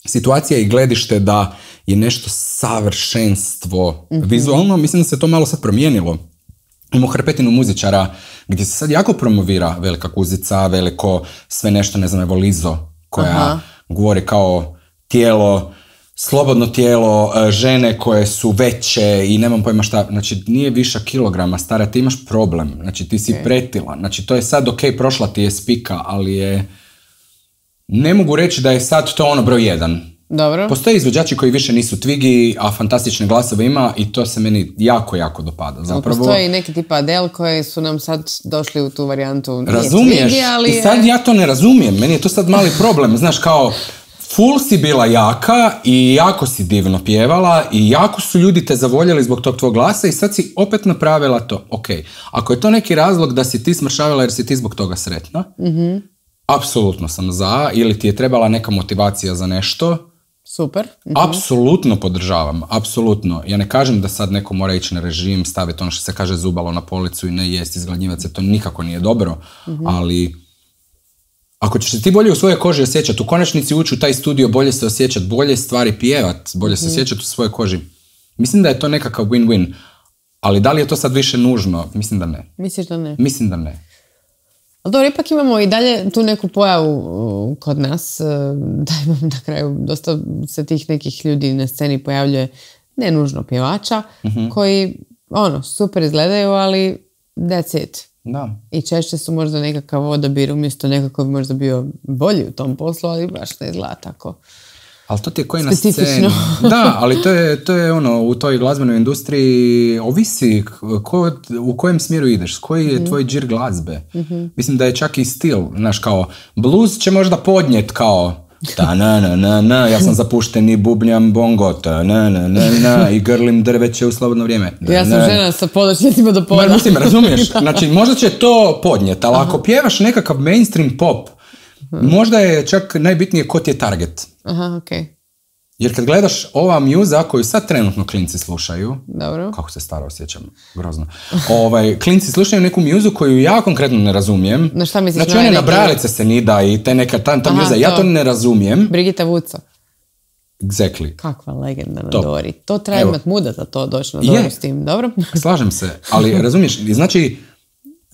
situacija i gledište da je nešto savršenstvo vizualno, mislim da se to malo sad promijenilo. Imamo hrpetinu muzičara gdje se sad jako promovira velika kuzica, veliko sve nešto, ne znam, evo Lizo, koja govori kao tijelo, slobodno tijelo, žene koje su veće i nemam pojma šta, znači nije viša kilograma, stara, ti imaš problem, znači ti si pretila, znači to je sad prošla ti je spika, ali je, ne mogu reći da je sad to ono broj 1. Dobro. Postoje izvođači koji više nisu Twiggy, a fantastične glasove ima i to se meni jako, jako dopada. Zapravo, postoji neki tipa Adele koji su nam sad došli u tu varijantu. Razumiješ? Twiggy, ali i sad ja to ne razumijem, meni je to sad mali problem, znaš, kao full si bila jaka i jako si divno pjevala i jako su ljudi te zavoljeli zbog tog tvog glasa i sad si opet napravila to. Ok, ako je to neki razlog da si ti smršavila jer si ti zbog toga sretna, apsolutno sam za, ili ti je trebala neka motivacija za nešto, super. Apsolutno podržavam, apsolutno. Ja ne kažem da sad neko mora ići na režim, staviti ono što se kaže zubalo na policu i ne jesti, izgladnjivati se, to nikako nije dobro, ali ako ćeš se ti bolje u svojoj koži osjećati, u konačnici ući u taj studio, bolje se osjećati, bolje stvari pjevat, bolje se osjećati u svojoj koži. Mislim da je to nekakav win-win, ali da li je to sad više nužno? Mislim da ne. Misliš da ne? Mislim da ne. Ali dobro, ipak imamo i dalje tu neku pojavu kod nas, da imamo na kraju dosta se tih nekih ljudi na sceni pojavljuje, ne nužno pjevača, koji super izgledaju, ali that's it. Da. I češće su možda nekakav odabir umjesto nekako bi možda bio bolji u tom poslu, ali baš ne izgleda tako. Ali to ti je koji na sceni. Da, ali to je u toj glazbenoj industriji ovisi u kojem smjeru ideš, koji je tvoj džir glazbe. Mislim da je čak i stil, znaš, kao blues će možda podnijet kao ta-na-na-na-na, ja sam zapušten i bubnjam bongo, ta-na-na-na-na, i grlim drveće u slobodno vrijeme. Ja sam žena sa podočnicima do poda. Mislim, razumiješ? Znači, možda će to podnijet, ali ako pjevaš nekakav mainstream pop, možda je čak najbitnije ko ti je target. Aha, okej. Jer kad gledaš ova mjuza koju sad trenutno klinci slušaju, dobro. Kako se staro osjećam, grozno. Klinci slušaju neku mjuzu koju ja konkretno ne razumijem. Na šta misliš? Znači one na brajalice se nida i te neka ta mjuza, ja to ne razumijem. Brigita Vuco. Exactly. Kakva legenda na Dori. To treba imati muda za to doći na Doru s tim, dobro? Slažem se, ali razumiješ, znači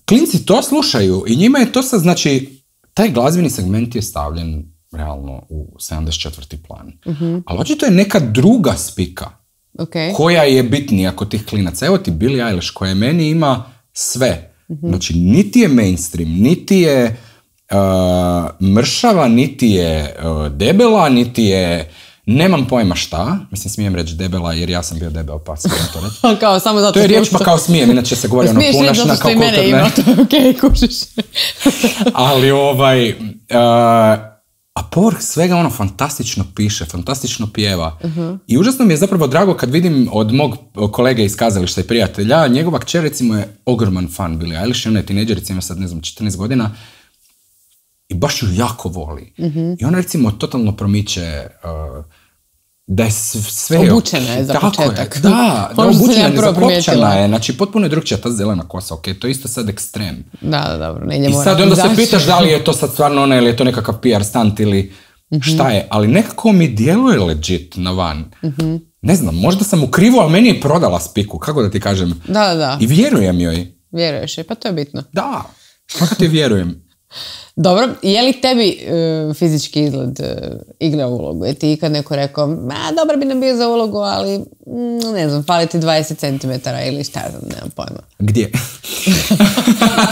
klinci to slušaju i njima je to sad, znači, taj glazbeni segment je stavljen realno u 74. plan. Ali očito je neka druga spika koja je bitnija kod tih klinaca. Evo ti Billie Eilish koja meni ima sve. Znači, niti je mainstream, niti je mršava, niti je debela, niti je nemam pojma šta. Mislim, smijem reći debela jer ja sam bio debel, pa smijem to reći. Kao, samo zato to je riječ pa kao smijem, inače se govori ono punašna kao kulturne. Smiješ reći zato što i mene ima, to kužiš. Ali a povrh svega fantastično piše, fantastično pjeva. I užasno mi je zapravo drago kad vidim od mog kolege iz kazališta i prijatelja, njegova kćer recimo je ogroman fan Billie Eilish, ona je tineđerica, ima sad, ne znam, 14 godina. i baš ju jako voli. I ona recimo totalno promiče da je sve... Obučena je za početak. Je. Da obučena je, zakopčana je. Znači, potpuno je drugčija ta zelena kosa, ok, to je isto sad ekstrem. Da, dobro, I sad onda se pitaš da li je to sad stvarno ona ili je to nekakav PR stunt ili šta je, ali nekako mi djeluje legit na van. Ne znam, možda sam u krivu, ali meni je prodala spiku, kako da ti kažem. Da. I vjerujem joj. Vjeruješ je, pa to je bitno. Da, kako ti vjerujem. Dobro, je li tebi fizički izgled igra ulogu? Je ti ikad neko rekao, dobar bi nam bio za ulogu, ali ne znam, fali ti 20 cm ili šta znam, nemam pojma. Gdje?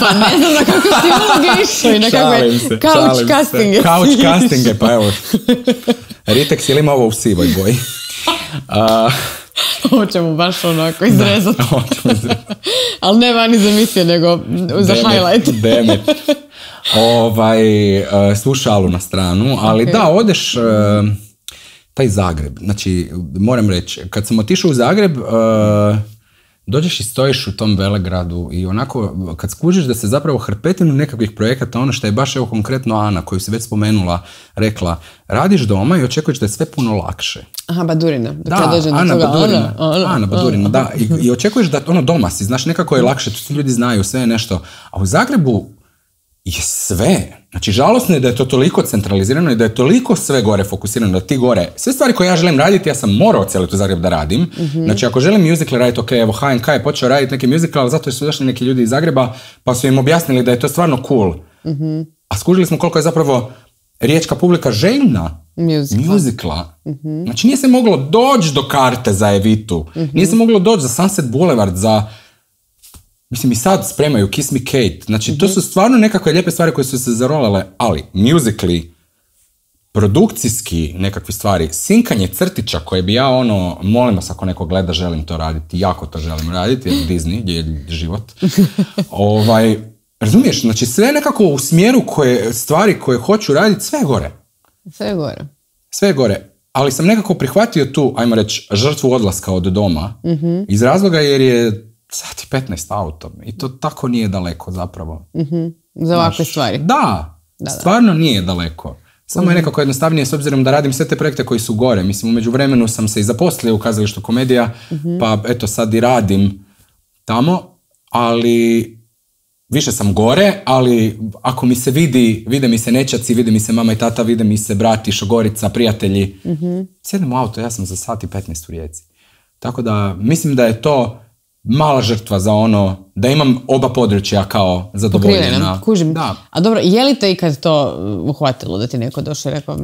Pa ne znam na kako ti uloge išao i na kakve couch castinge. Couch castinge, pa evo. Ritex ili ima ovo u sivoj boji? Ovo ćemo baš onako izrezati. Ali ne vani za emisije, nego za highlight. Damn it. Slušalu na stranu, ali da, odeš taj Zagreb, znači moram reći, kad sam otišao u Zagreb, dođeš i stojiš u tom velegradu i onako, kad skužiš da se zapravo hrpetinu nekakvih projekata, ono što je baš evo konkretno Ana, koju si već spomenula, rekla, radiš doma i očekuješ da je sve puno lakše. Aha, Badurina. Da, Ana Badurina, da. I očekuješ da ono doma si, znaš, nekako je lakše, tu ljudi znaju, sve je nešto. A u Zagrebu je sve. Znači, žalosno je da je to toliko centralizirano i da je toliko sve gore fokusirano, da ti gore, sve stvari koje ja želim raditi, ja sam morao cijeli u Zagreb da radim. Znači, ako želim musical raditi, ok, evo HNK je počeo raditi neki musical, ali zato su došli neki ljudi iz Zagreba, pa su im objasnili da je to stvarno cool. A skužili smo koliko je zapravo riječka publika željna musicala. Znači, nije se moglo doći do karte za Evitu, nije se moglo doći za Sunset Boulevard, za... Mislim, i sad spremaju Kiss Me Kate. Znači, to su stvarno nekakve lijepe stvari koje su se zarolale, ali musically, produkcijski nekakve stvari, sinkanje crtića koje bi ja molim vas ako neko gleda, želim to raditi, jako to želim raditi, jer Disney je život. Razumiješ, znači sve nekako u smjeru stvari koje hoću raditi, sve je gore. Sve je gore. Ali sam nekako prihvatio tu, ajmo reći, žrtvu odlaska od doma, iz razloga jer je sat i 15 autom i to tako nije daleko zapravo. Za ovakve stvari. Da, stvarno nije daleko. Samo je nekako jednostavnije s obzirom da radim sve te projekte koji su gore. Mislim, u međuvremenu sam se i zaposlio u kazalištu Komedija, pa eto sad i radim tamo, ali više sam gore, ali ako mi se vide mi se nećaci, vide mi se mama i tata, vide mi se brati, šogorica, prijatelji, sjednem u auto, ja sam za sat i 15 u Rijeci. Tako da mislim da je to mala žrtva za da imam oba područja kao zadovoljena. Kužim. Da. A dobro, je li te ikad to uhvatilo da ti neko došao i rekao?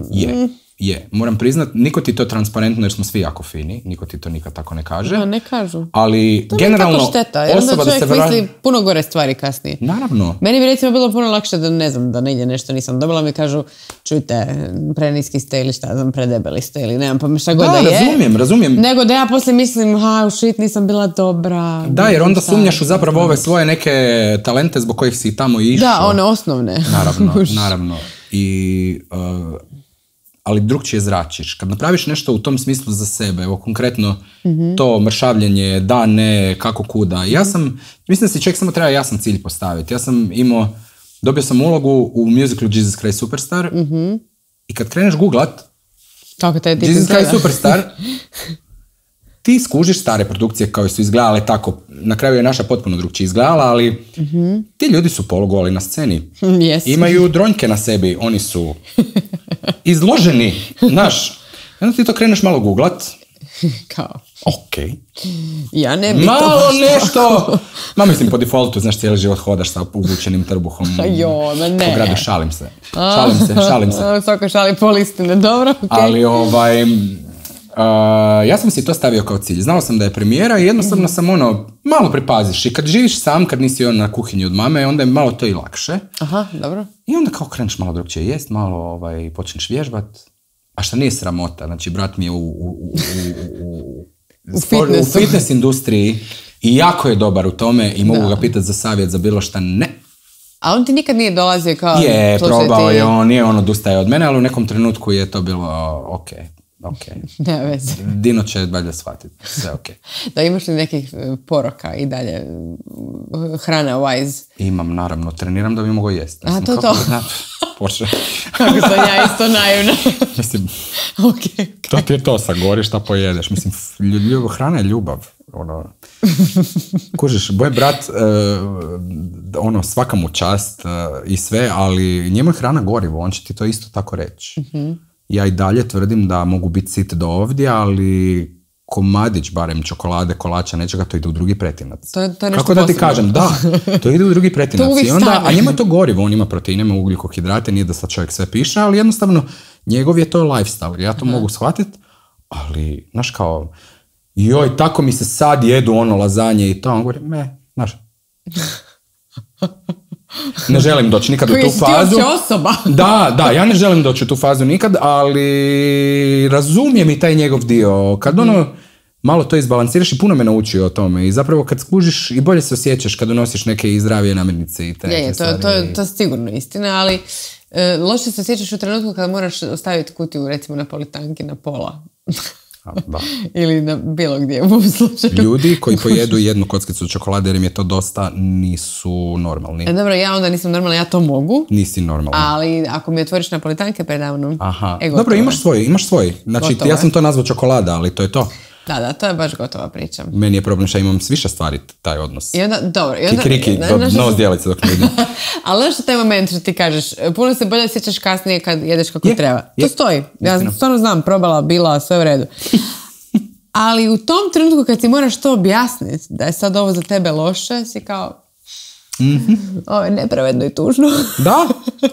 Je. Moram priznat, niko ti to transparentno jer smo svi jako fini, niko ti to nikad tako ne kaže. No, ne kažu. Ali to generalno je šteta, jer onda čovjek misli puno gore stvari kasnije. Naravno. Meni bi recimo bilo puno lakše da ne znam, da negdje nešto nisam dobila, mi kažu, čujte, preniski ste ili šta znam, predebeli ste ili nemam pa šta god da je. Razumijem. Nego da ja poslije mislim, nisam bila dobra. Da, jer onda sumnjaš u zapravo ove svoje neke talente zbog kojih si tamo išao. Da, one osnovne. Naravno. Ali drugčije zračiš. Kad napraviš nešto u tom smislu za sebe, evo konkretno to mršavljenje, da, ne, kako, kuda. Mislim da si čovjek samo treba jasan cilj postaviti. Ja sam dobio sam ulogu u musicalu Jesus Christ Superstar i kad kreneš googlat Jesus Christ Superstar, ti skužiš stare produkcije koje su izgledale tako, na kraju je naša potpuno drugčije izgledala, ali ti ljudi su polugoli na sceni. Imaju dronjke na sebi, oni su izloženi, znaš. Onda ti to kreneš malo googlat. Kao? Ok. Ja ne bi malo to nešto. Mislim, po defaultu, znaš, cijeli život hodaš sa uvučenim trbuhom. Po gradu, šalim se. Svaka šali pol istine, dobro, ok. Ali ja sam si to stavio kao cilj. Znao sam da je premijera i jednostavno sam malo pripaziš. I kad živiš sam, kad nisi na kuhinji od mame, onda je malo to i lakše. Aha, dobro. I onda kao kreneš malo drugčije jest, malo počneš vježbat. A šta nije sramota. Znači, brat mi je u fitness industriji i jako je dobar u tome i mogu ga pitati za savjet za bilo šta. Ne. A on ti nikad nije dolazio kao... Je, probao je on, nije on odustaje od mene, ali u nekom trenutku je to bilo ok. Ne veze. Dino će valjda shvatiti, sve ok. Da, imaš li nekih poroka i dalje hrana wise? Imam, naravno, treniram da bi mogo jesti. A to. hoće. Kako sam ja isto naivna. Mislim, Okay. to ti je to, sagoriš šta pojedeš. Mislim, hrana je ljubav. Kužiš, moj brat, svaka mu čast i sve, ali njemu je hrana gorivo, on će ti to isto tako reći. Ja i dalje tvrdim da mogu biti sit do ovdje, ali komadić, barem čokolade, kolača, nečega, to ide u drugi pretinac. To je nešto kako da ti kažem, da, to ide u drugi pretinac. To I onda, a njemu je to gorivo, on ima proteine, ima ugljikohidrate, nije da sad čovjek sve piše, ali jednostavno njegov je to lifestyle. Ja to mogu shvatiti, ali, znaš kao, joj, tako mi se sad jedu lazanje i to, on govori, znaš, ne želim doći nikad u tu fazu. Osoba. Da, ja ne želim doći u tu fazu nikad, ali razumijem i taj njegov dio. Kad malo to izbalansiraš i puno me naučio o tome i zapravo kad skužiš i bolje se osjećaš kad donosiš neke zdravije namirnice i te stvari. To je sigurno istina, ali loše se osjećaš u trenutku kad moraš ostaviti kutiju recimo na politanki na pola. Da. Ili na bilo gdje u ovom slučaju. Ljudi koji pojedu jednu kockicu čokolade jer im je to dosta, nisu normalni. Dobro, ja onda nisam normalna, ja to mogu. Nisi normalna. Ali ako mi otvoriš napolitanke predavno, dobro, imaš svoj. Znači, gotovo, ja sam to nazvao čokolada, ali to je to. Da, to je baš gotova priča. Meni je problem što imam s više stvari taj odnos. I onda, dobro. Kikiriki, nos dijelice dok ne vidim. Ali znaš što taj moment što ti kažeš, puno se bolje sjećaš kasnije kad jedeš kako treba. To stoji. Ja stvarno znam, probala, bila, sve u redu. Ali u tom trenutku kad ti moraš to objasniti, da je sad ovo za tebe loše, si kao, ovo je nepravedno i tužno.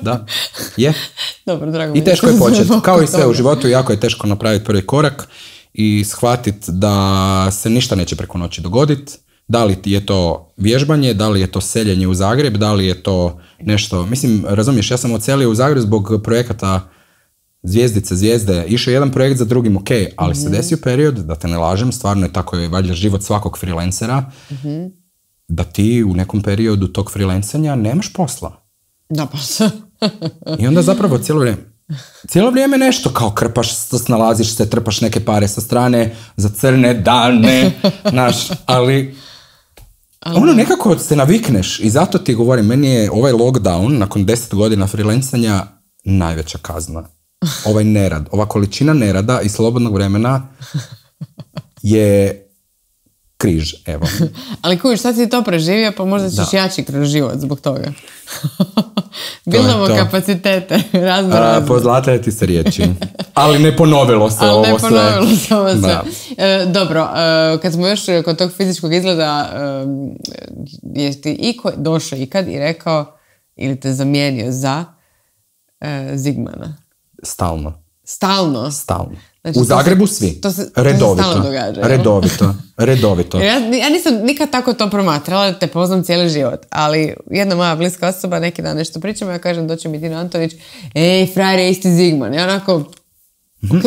Da, je. Dobro, drago mi. I teško je početi. Kao i sve u životu, jako je teško napraviti prvi korak i shvatiti da se ništa neće preko noći dogoditi. Da li je to vježbanje, da li je to seljenje u Zagreb, da li je to nešto... Mislim, razumiješ, ja sam odselio u Zagreb zbog projekata Zvijezde. Išao jedan projekt za drugim, ok, ali se desio period, da te ne lažem, stvarno je tako je valjda život svakog freelancera, da ti u nekom periodu tog freelancanja nemaš posla. Da, pa I onda zapravo cijelo vrijeme nešto kao krpaš, snalaziš se, trpaš neke pare sa strane za crne dane, znaš, ali nekako se navikneš i zato ti govorim, meni je ovaj lockdown nakon 10 godina freelancanja najveća kazna. Ovaj nerad, ova količina nerada i slobodnog vremena je križ, evo. Ali kuviš, sad si to preživio, pa možda ćeš jači kroz život zbog toga. Bildamo kapacitete, razno. Pozlataju ti se riječi. Ali ne ponovilo se ovo sve. Dobro, kad smo još kod tog fizičkog izgleda, je ti iko došao ikad i rekao ili te zamijenio za Zigmana? Stalno. Znači, u Zagrebu svi. Redovito. Ja nisam nikad tako to promatrala, te poznam cijeli život, ali jedna moja bliska osoba, neki dan nešto pričamo, ja kažem, doći mi Dino Antonić, frajer je isti Zigman. Ja onako,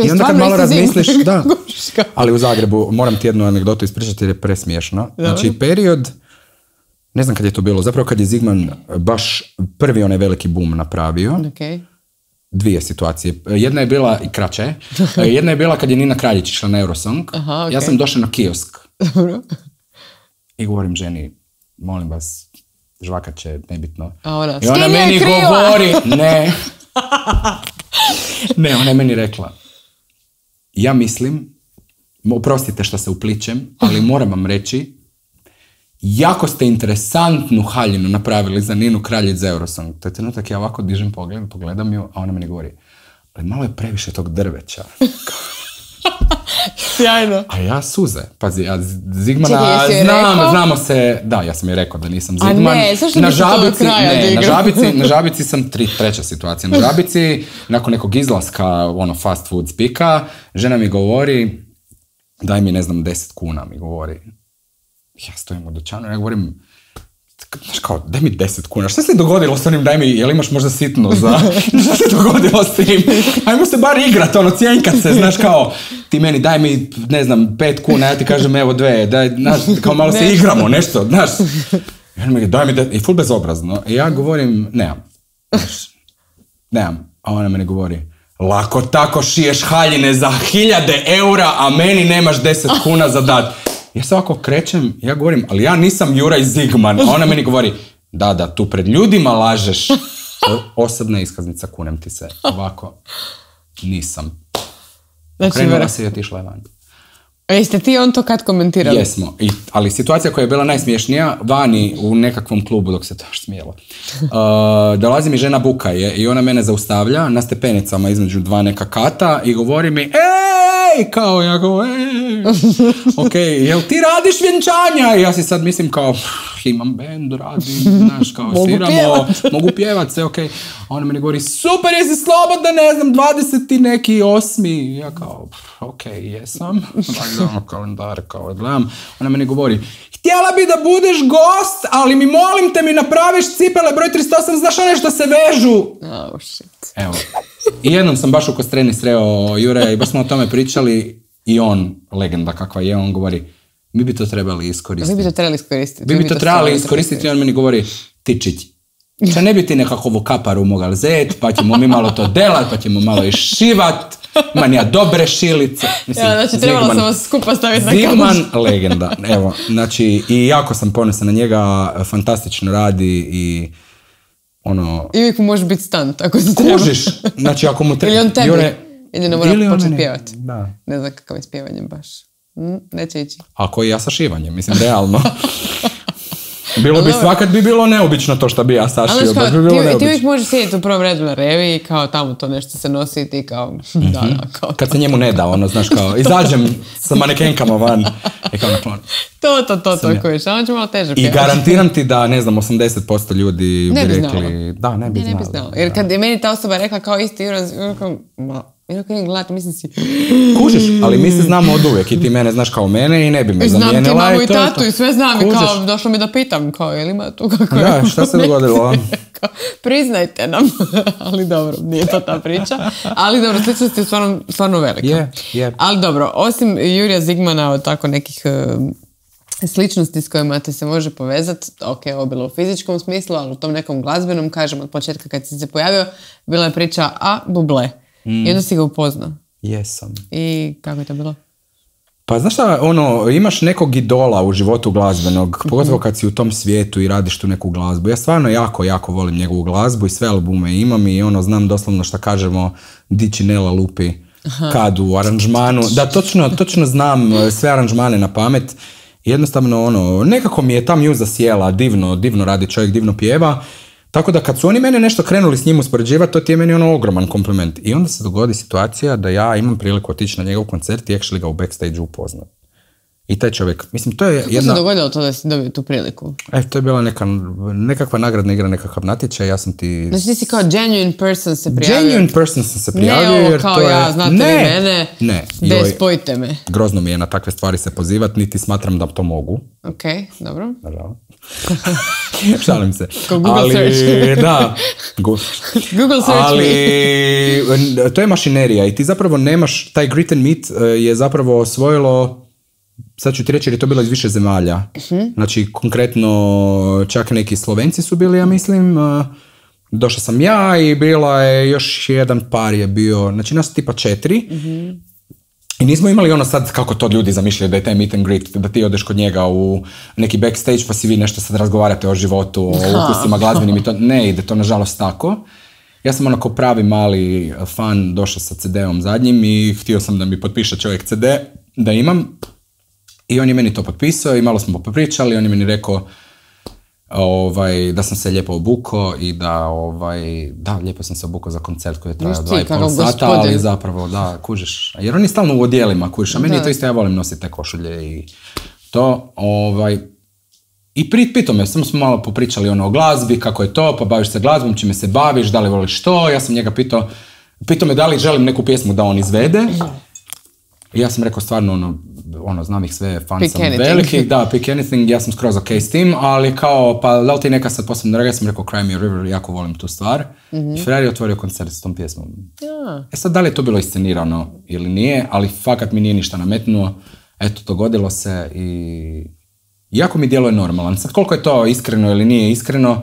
I onda kad malo razmisliš, da. Ali u Zagrebu, moram ti jednu anegdotu ispričati jer je presmiješno. Znači, period, ne znam kad je to bilo, zapravo kad je Zigman baš prvi onaj veliki boom napravio, dvije situacije. Jedna je bila i kraća. Jedna je bila kad je Nina Kraljić išla na Eurosong. Ja sam došao na kiosk. I govorim ženi, molim vas, žvakat će, nebitno. I ona meni govori, ne, ona je meni rekla, ja mislim, oprostite što se upličem, ali moram vam reći, jako ste interesantnu haljinu napravili za Ninu Kraljić za Eurosong. To je trenutak, ja ovako dižem pogled, pogledam ju, a ona meni govori, ali malo je previše tog drveća. Sjajno. A ja suze. Pazi, ja Zigmana znamo se... Da, ja sam je rekao da nisam Zigman. A ne, zašto bi se to do kraja na Žabici sam treća situacija. Na Žabici, nakon nekog izlaska, fast food spika, žena mi govori, daj mi, 10 kuna, mi govori. Ja stojim u dućanu, ja govorim, znaš kao, daj mi 10 kuna, šta se dogodilo s onim, daj mi, jel imaš možda sitno za, šta se dogodilo s tim, ajmo se bar igrat, cjenkat se, znaš kao, ti meni daj mi, 5 kuna, ja ti kažem evo 2, daj, znaš, kao malo se igramo, nešto, znaš, daj mi, i ful bezobrazno, i ja govorim, nemam, a ona meni govori, lako tako šiješ haljine za 1000 eura, a meni nemaš 10 kuna za dat. Ja se ovako krećem, ja govorim, ali ja nisam Juraj Zigman. A ona meni govori, da, tu pred ljudima lažeš. Osobna iskaznica, kunem ti se. Ovako, nisam. Znači, Krenula se i otišla je van. Jeste ti on to kad komentirali? Jesmo, ali situacija koja je bila najsmiješnija, vani u nekakvom klubu, dok se to još smijelo, dolazi mi žena buka je i ona mene zaustavlja na stepenicama između dva neka kata i govori mi, ej, kao ja govorim, ok, jel ti radiš vjenčanja? I ja si sad mislim kao, imam bend, radim, znaš, kao sviramo, mogu pjevat, sve ok. A ona meni govori, super, jesi slobodna, ne znam, 20 i neki 8. Ja kao, ok, jesam. Gledam kalendar, kao gledam. Ona meni govori, htjela bi da budeš gost, ali mi molim te mi napraviš cipele broj 38, znaš one što se vežu. Oh, shit. Evo. I jednom sam baš u Kostreni sreo Jure i baš smo o tome pričali i on, legenda kakva je, on govori, mi bi to trebali iskoristiti. Vi bi to trebali iskoristiti. Vi bi to trebali iskoristiti i on meni govori, Tičić, če ne bi ti nekakvu kaparu mogal zet, pa ćemo mi malo to delat, pa ćemo malo išivat, imam ja dobre šilice. Mislim, ja, znači trebalo sam vas skupa staviti na kamer. Zigman, legenda, evo, znači, i jako sam ponosan na njega, fantastično radi i ono... I uvijek mu može biti stunt, ako se treba. Kužiš, znači ako mu treba... Ili on tebi, ili ne mora početi pjevati. Da. Ne znam kakav je s pjevanjem baš. Neće ići. Ako i ja sa šivanjem, mislim, realno. Bilo bi svakat bi bilo neobično to što bi ja sašio, baš bi bilo neobično. Ti uvijek možeš sjediti u prvom redu na revi i kao tamo to nešto se nosi i ti kao... Da, kao... Kad se njemu ne da, ono, znaš, kao, izađem sa manekenkama van i kao naklon. To kojiš, a on će malo teže pjevati. I garantiram ti da, ne znam, 80% ljudi bi rekli... Da, ne bi znalo. Jer kad je meni ta osoba rekla kao isti Juran, jer ako nije gledati, mislim si... Kužiš, ali mi se znamo od uvijek i ti mene znaš kao mene i ne bi me zamijenila. Znam ti mamu i tatu i sve znam i kao došlo mi da pitam kao je li ima tu kako je... Da, šta se dogodilo? Priznajte nam, ali dobro, nije to ta priča. Ali dobro, sličnost je stvarno velika. Ali dobro, osim Jurija Zigmana od tako nekih sličnosti s kojima te se može povezati, ok, ovo bilo u fizičkom smislu, ali u tom nekom glazbenom, kažem od početka kad si se pojavio, bila je priča Buble. I onda si ga upoznao. Jesam. I kako je to bilo? Pa znaš šta, ono, imaš nekog idola u životu glazbenog, pogotovo kad si u tom svijetu i radiš tu neku glazbu. Ja stvarno jako volim njegovu glazbu i sve albume imam i ono, znam doslovno šta kažemo, di Činela lupi kad u aranžmanu. Da, točno znam sve aranžmane na pamet. Jednostavno, ono, nekako mi je ta mjuza sjela, divno radi čovjek, divno pjeva. Tako da kad su oni mene nešto krenuli s njim uspoređivati, to ti je meni ono ogroman kompliment. I onda se dogodi situacija da ja imam priliku otići na njegov koncert i actually ga u backstage upoznat. I taj čovjek, mislim, to je Kako se dogodilo to da si dobio tu priliku? To je bila nekakva nagradna igra, nekakav natječaj, ja sam ti... Znači ti si kao genuine person se prijavio? Genuine person sam se prijavio, ne, ovo kao ja, znate li mene? Ne. Spojite me. Grozno mi je na takve stvari se pozivati, niti smatram da to mogu. Ok, dobro. Nažalost. Šalim se. Google search. Da. Google search ali to je mašinerija i ti zapravo nemaš, taj grit and meet je zapravo osvojilo, sad ću ti reći jer je to bilo iz više zemalja. Znači konkretno čak neki Slovenci su bili, ja mislim. Došao sam ja i bila je još jedan par je bio, znači nas tipa 4. I nismo imali ono sad kako to ljudi zamišljaju da je taj meet and greet, da ti odeš kod njega u neki backstage pa si vi nešto sad razgovarate o životu, o ukusima glazbenim i to ne ide to nažalost tako. Ja sam onako pravi mali fan došao sa CD-om zadnjim i htio sam da mi potpiše čovjek CD, da imam. I on je meni to potpisao i malo smo popričali, on je meni rekao da sam se lijepo obukao i da, lijepo sam se obukao za koncert koji je trajao 2,5 sata, ali zapravo, da, kužiš. Jer on je stalno u odjelima, kužiš, a meni je to isto, ja volim nositi te košulje i to, i pitao me, samo smo malo popričali o glazbi, kako je to, pa baviš se glazbom, čime se baviš, da li voliš to, ja sam njega pitao me da li želim neku pjesmu da on izvede. I ja sam rekao stvarno, znam ih sve, fan sam veliki, da, pick anything, ja sam skroz ok s tim, ali kao, pa da li ti neka sad posebno draga, ja sam rekao Cry Me a River, jako volim tu stvar. I Ferrari je otvorio koncert s tom pjesmom. Sad, da li je to bilo iscenirano ili nije, ali fakat mi nije ništa nametnuo, eto, dogodilo se i jako mi djeluje normalan. Sad, koliko je to iskreno ili nije iskreno,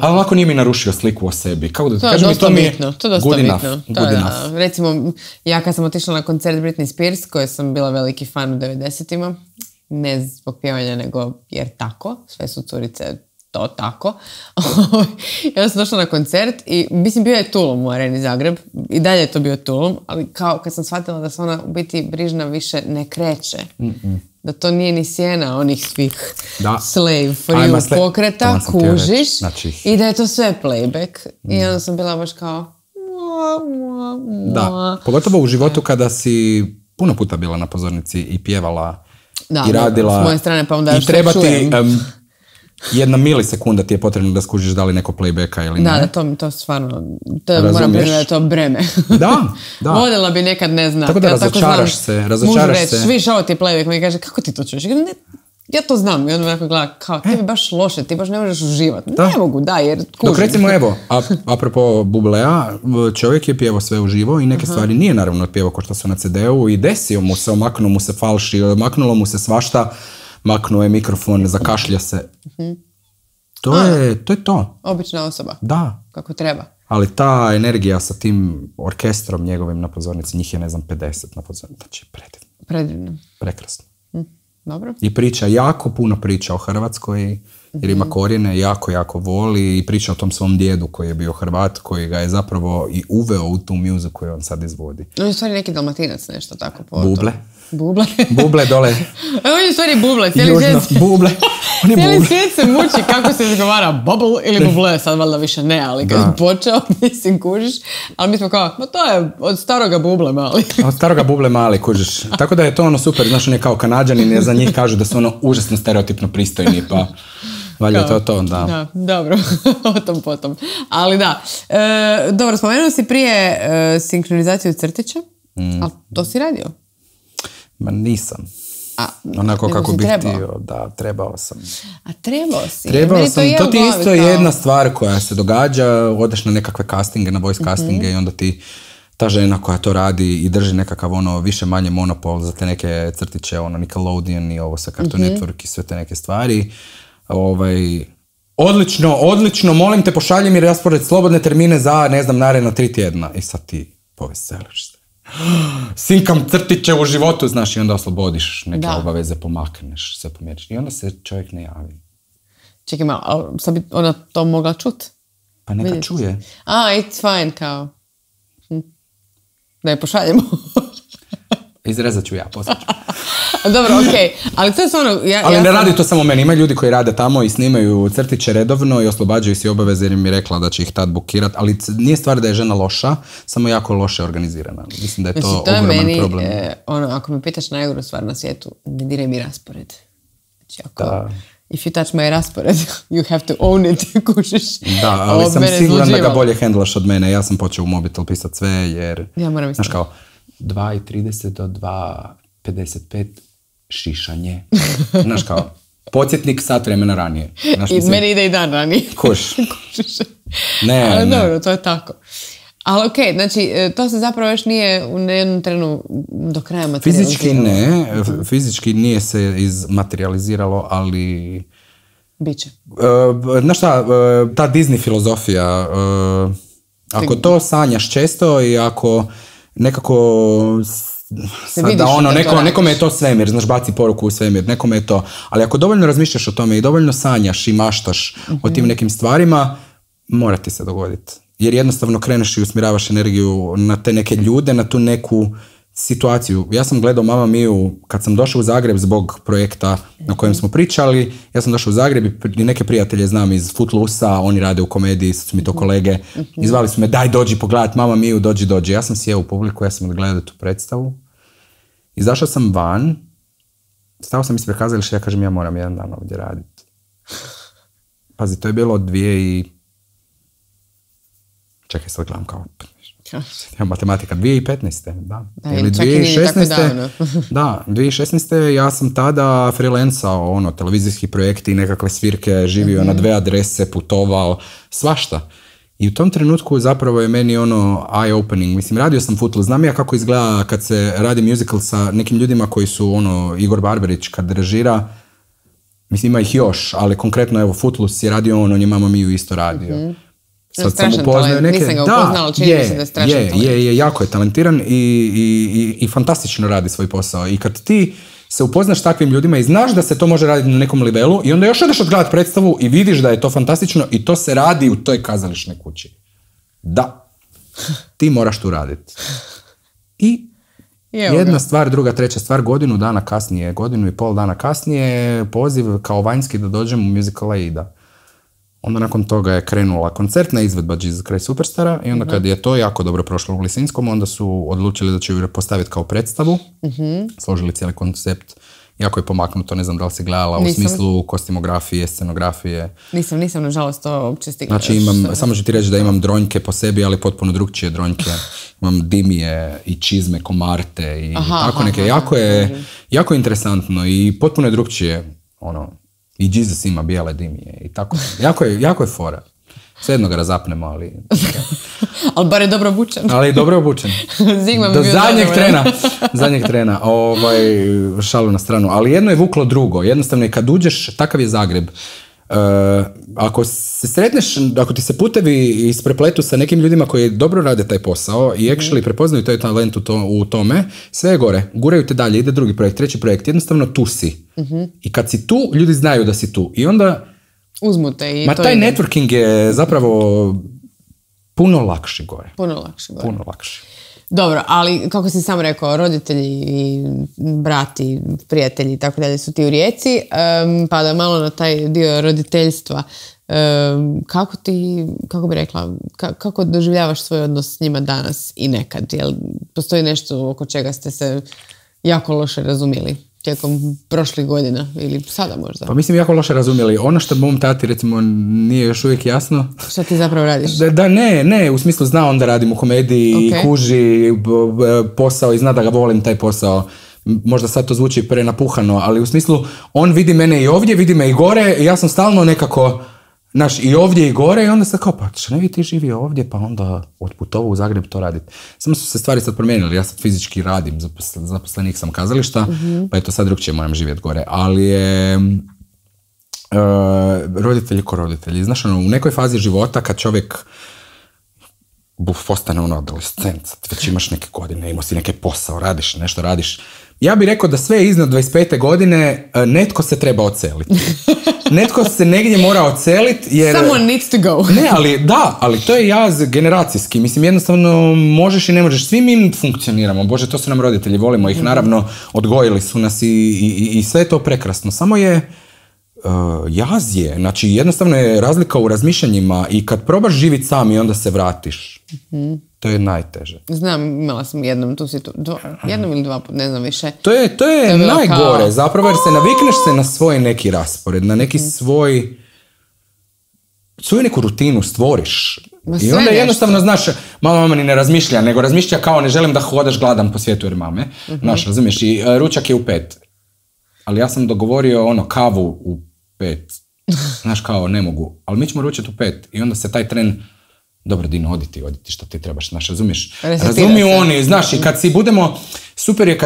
ali ovako nije mi narušio sliku o sebi. Kako da kažem, to mi je good enough. Recimo, ja kad sam otišla na koncert Britney Spears, koje sam bila veliki fan u 90-ima, ne zbog pjevanja, nego jer tako, sve su curice to tako. Ja sam došla na koncert i mislim bio je Tulum u Areni Zagreb i dalje je to bio Tulum, ali kao kad sam shvatila da se ona u biti Brižna više ne kreće. Da to nije ni sjena onih svih slave for you pokreta, kužiš, znači... i da je to sve playback. I onda sam bila baš kao... Da, pogotovo u životu kada si puno puta bila na pozornici i pjevala i radila. S moje strane pa onda i treba ti 1 milisekunda ti je potrebno da skužiš da li neko playbacka ili ne. Da, to stvarno, moram priznati da je to breme. Da. Voljela bi nekad, ne znam. Tako da razočaraš se. Mužu reći, viš ovo ti je playback, mi kaže, kako ti to čuješ? Ja to znam. I onda me neko gleda, kao, tebi baš loše, ti baš ne možeš uživati. Ne mogu, jer kužim. Dok recimo, evo, apropo Bublea, čovjek je pjevao sve uživo i neke stvari nije naravno otpjevao ko što su na CD-u i desio mu se, omaknuo mu se falši, maknulo mu se svašta, maknuo je mikrofon, zakašlja se. To je to. Obična osoba. Da. Kako treba. Ali ta energija sa tim orkestrom njegovim na pozornici, njih je, ne znam, 50 na pozornici. Znači, predivno. Prekrasno. Dobro. I priča, jako puno priča o Hrvatskoj, jer ima korijene, jako voli i priča o tom svom djedu koji je bio Hrvat, koji ga je zapravo i uveo u tu muziku koju on sad izvodi. On je u stvari neki Dalmatinac, nešto tako. Buble. Buble. Buble dole. On je u stvari Buble. Buble. Cijeli svijet se muči kako se izgovara bubble ili buble, sad valjda više ne, ali kad je počeo, mislim, kužiš, ali mi smo kao, to je od staroga Buble mali. Od staroga Buble mali, kužiš. Tako da je to ono super, znaš, on je kao Kanađanin, jer za njih kažu da su ono užasno stereotipno pristojni, pa valjda to to, da. Da, dobro, o tom potom. Ali da, dobro, spomenuo si prije sinkronizaciju crtića, ali to si radio? Ma nisam. Onako kako bih htio, da, trebao sam. A trebao si? Trebao sam, to ti isto je jedna stvar koja se događa, odeš na nekakve castinge, na voice castinge i onda ti ta žena koja to radi i drži nekakav ono više manje monopol za te neke crtiće, ono Nickelodeon i ovo sa Cartoon Network i sve te neke stvari. Odlično, molim te pošalji mi raspored slobodne termine za, ne znam, naredna 3 tjedna. I sad ti poveseliš se. Sinkam crtiće u životu, znaš, i onda oslobodiš neke obaveze, pomakneš, sve pomjeriš. I onda se čovjek ne javi. Čekaj malo, ali sad bi ona to mogla čut? Pa neka čuje. It's fine, kao. Da je pošaljemo. Izrezat ću ja, poslije ću. Dobro, okej. Ali to je stvarno... Ali ne radi to samo meni. Ima ljudi koji rade tamo i snimaju crtiće redovno i oslobađaju si obaveze jer mi je rekla da će ih tad bukirat. Ali nije stvar da je žena loša, samo jako loše organizirana. Mislim da je to ogroman problem. Ako me pitaš najgoru stvar na svijetu, ne diraj mi raspored. Znači, if you touch my raspored, you have to own it, kužiš. Da, ali sam siguran da ga bolje hendlaš od mene. Ja sam počeo u mobitel pisat sve jer... Ja moram znaš kao, 2:30 do 2:55 šišanje. Znaš kao, podsjetnik sat vremena ranije. I meni ide i dan ranije. Kuš. Ali dobro, to je tako. Ali okej, znači, to se zapravo još nije u jednom trenu do kraja materializiralo. Fizički nije se izmaterializiralo, ali... Biće. Znaš šta, ta Disney filozofija, ako to sanjaš često i ako nekako... da ono, nekome je to svemir, znaš, baci poruku u svemir, nekome je to, ali ako dovoljno razmišljaš o tome i dovoljno sanjaš i maštaš o tim nekim stvarima, mora ti se dogoditi. Jer jednostavno kreneš i usmjeravaš energiju na te neke ljude, na tu neku situaciju. Ja sam gledao Mamma Miju kad sam došao u Zagreb zbog projekta na kojem smo pričali. Ja sam došao u Zagreb i neke prijatelje znam iz Footloose-a, oni rade u komediji, sad su mi to kolege. I zvali su me, daj dođi pogledat Mamma Miju, dođi. Ja sam sjeo u publiku, ja sam gledao tu predstavu. Izašao sam van, stao sam ispred kazališta, ja kažem, ja moram jedan dan ovdje raditi. Pazi, to je bilo od 2000 Čekaj, sad gledam kao... matematika, 2015. Da. Ili 2016. Da, 2016. ja sam tada freelancao, televizijski projekti i nekakve svirke, živio na 2 adrese, putovao, svašta. I u tom trenutku zapravo je meni eye-opening. Mislim, radio sam Footloose. Znam ja kako izgleda kad se radi musical sa nekim ljudima koji su, Igor Barberić kad režira, mislim, ima ih još, ali konkretno, evo, Footloose je radio on je Mamma Miju isto radio. Sad sam upoznao neke... Nisam ga upoznala, čini mi se da je strašan talent. Jako je talentiran i fantastično radi svoj posao. I kad ti se upoznaš s takvim ljudima i znaš da se to može raditi na nekom nivelu i onda još odeš odgledati predstavu i vidiš da je to fantastično i to se radi u toj kazališnoj kući. Da. Ti moraš tu raditi. I jedna stvar, druga, treća stvar, godinu i pol dana kasnije, poziv kao vanjski da dođem u musical Aida. Onda nakon toga je krenula koncertna izvedba Jesus Christ Superstara i onda kad je to jako dobro prošlo u Lisinskom, onda su odlučili da će ju postaviti kao predstavu. Složili cijeli koncept. Jako je pomaknuto, ne znam da li si gledala u smislu kostimografije, scenografije. Nisam, nažalost, to uopće stigla. Znači samo ću ti reći da imam dronjke po sebi, ali potpuno drugčije dronjke. Imam dimije i čizme, komarte i tako neke. Jako je interesantno i potpuno je drugčije. I Jesus ima bijele dimije i tako. Jako je fora. Svejedno ga razapnemo, ali... ali bar je dobro obučen. Ali je dobro obučen. Do zadnjeg trena. Šalu na stranu. Ali jedno je vuklo drugo. Jednostavno je kad uđeš, takav je Zagreb. Ako se sretneš, ako ti se putevi isprepletu sa nekim ljudima koji dobro rade taj posao i actually prepoznaju taj talent u tome, sve je gore. Guraju te dalje, ide drugi projekt, treći projekt. Jednostavno tu si. I kad si tu, ljudi znaju da si tu. I onda... uzmute i taj networking je zapravo puno lakši gore. Puno lakši. Dobro, ali kako si sam rekao, roditelji i brati, prijatelji i tako dalje su ti u Rijeci, pa da malo na taj dio roditeljstva, kako bi rekla, kako doživljavaš svoj odnos s njima danas i nekad? Jel postoji nešto oko čega ste se jako loše razumjeli tijekom prošlih godina ili sada možda? Pa mislim jako loše razumjeli. Ono što mom tati recimo nije još uvijek jasno. Što ti zapravo radiš? Ne, u smislu zna on da radim u komediji i kuži posao i zna da ga volim taj posao. Možda sad to zvuči prenapuhano, ali u smislu on vidi mene i ovdje, vidi me i gore i ja sam stalno nekako i ovdje i gore i onda sad kao, pa što ne bi ti živio ovdje, pa onda otputovao u Zagreb to raditi. Samo su se stvari sad promijenili, ja sad fizički radim, zaposlenik sam kazališta, pa eto sad drugčije moram živjeti gore, ali je roditelji ko roditelji. Znaš, u nekoj fazi života kad čovjek postane adolescent, već imaš neke godine, imao si neke posao, radiš, nešto radiš. Ja bih rekao da sve iznad 25. godine netko se treba odseliti. Netko se negdje mora odseliti jer... Someone needs to go. Ne, ali to je jaz generacijski. Mislim, jednostavno možeš i ne možeš. Svi mi funkcioniramo. Bože, to su nam roditelji, volimo ih, naravno, odgojili su nas i sve je to prekrasno. Samo je jaz je. Znači, jednostavno je razlika u razmišljanjima i kad probaš živjeti sam i onda se vratiš. To je najteže. Znam, imala sam jednom ili dva put, ne znam više. To je najgore, zapravo jer se navikneš se na svoj neki raspored, na neki svoju neku rutinu stvoriš. I onda jednostavno, znaš, mama ni ne razmišlja, nego razmišlja kao ne želim da hodaš gladan po svijetu jer mame. Znaš, razumiješ, i ručak je u 5. Ali ja sam dogovorio kavu u 5. Znaš, kao ne mogu, ali mi ćemo ručati u 5. I onda se taj tren, dobro Dino, oditi što ti trebaš, znaš, razumiješ? Razumiju oni, znaš, i kad si budemo, super je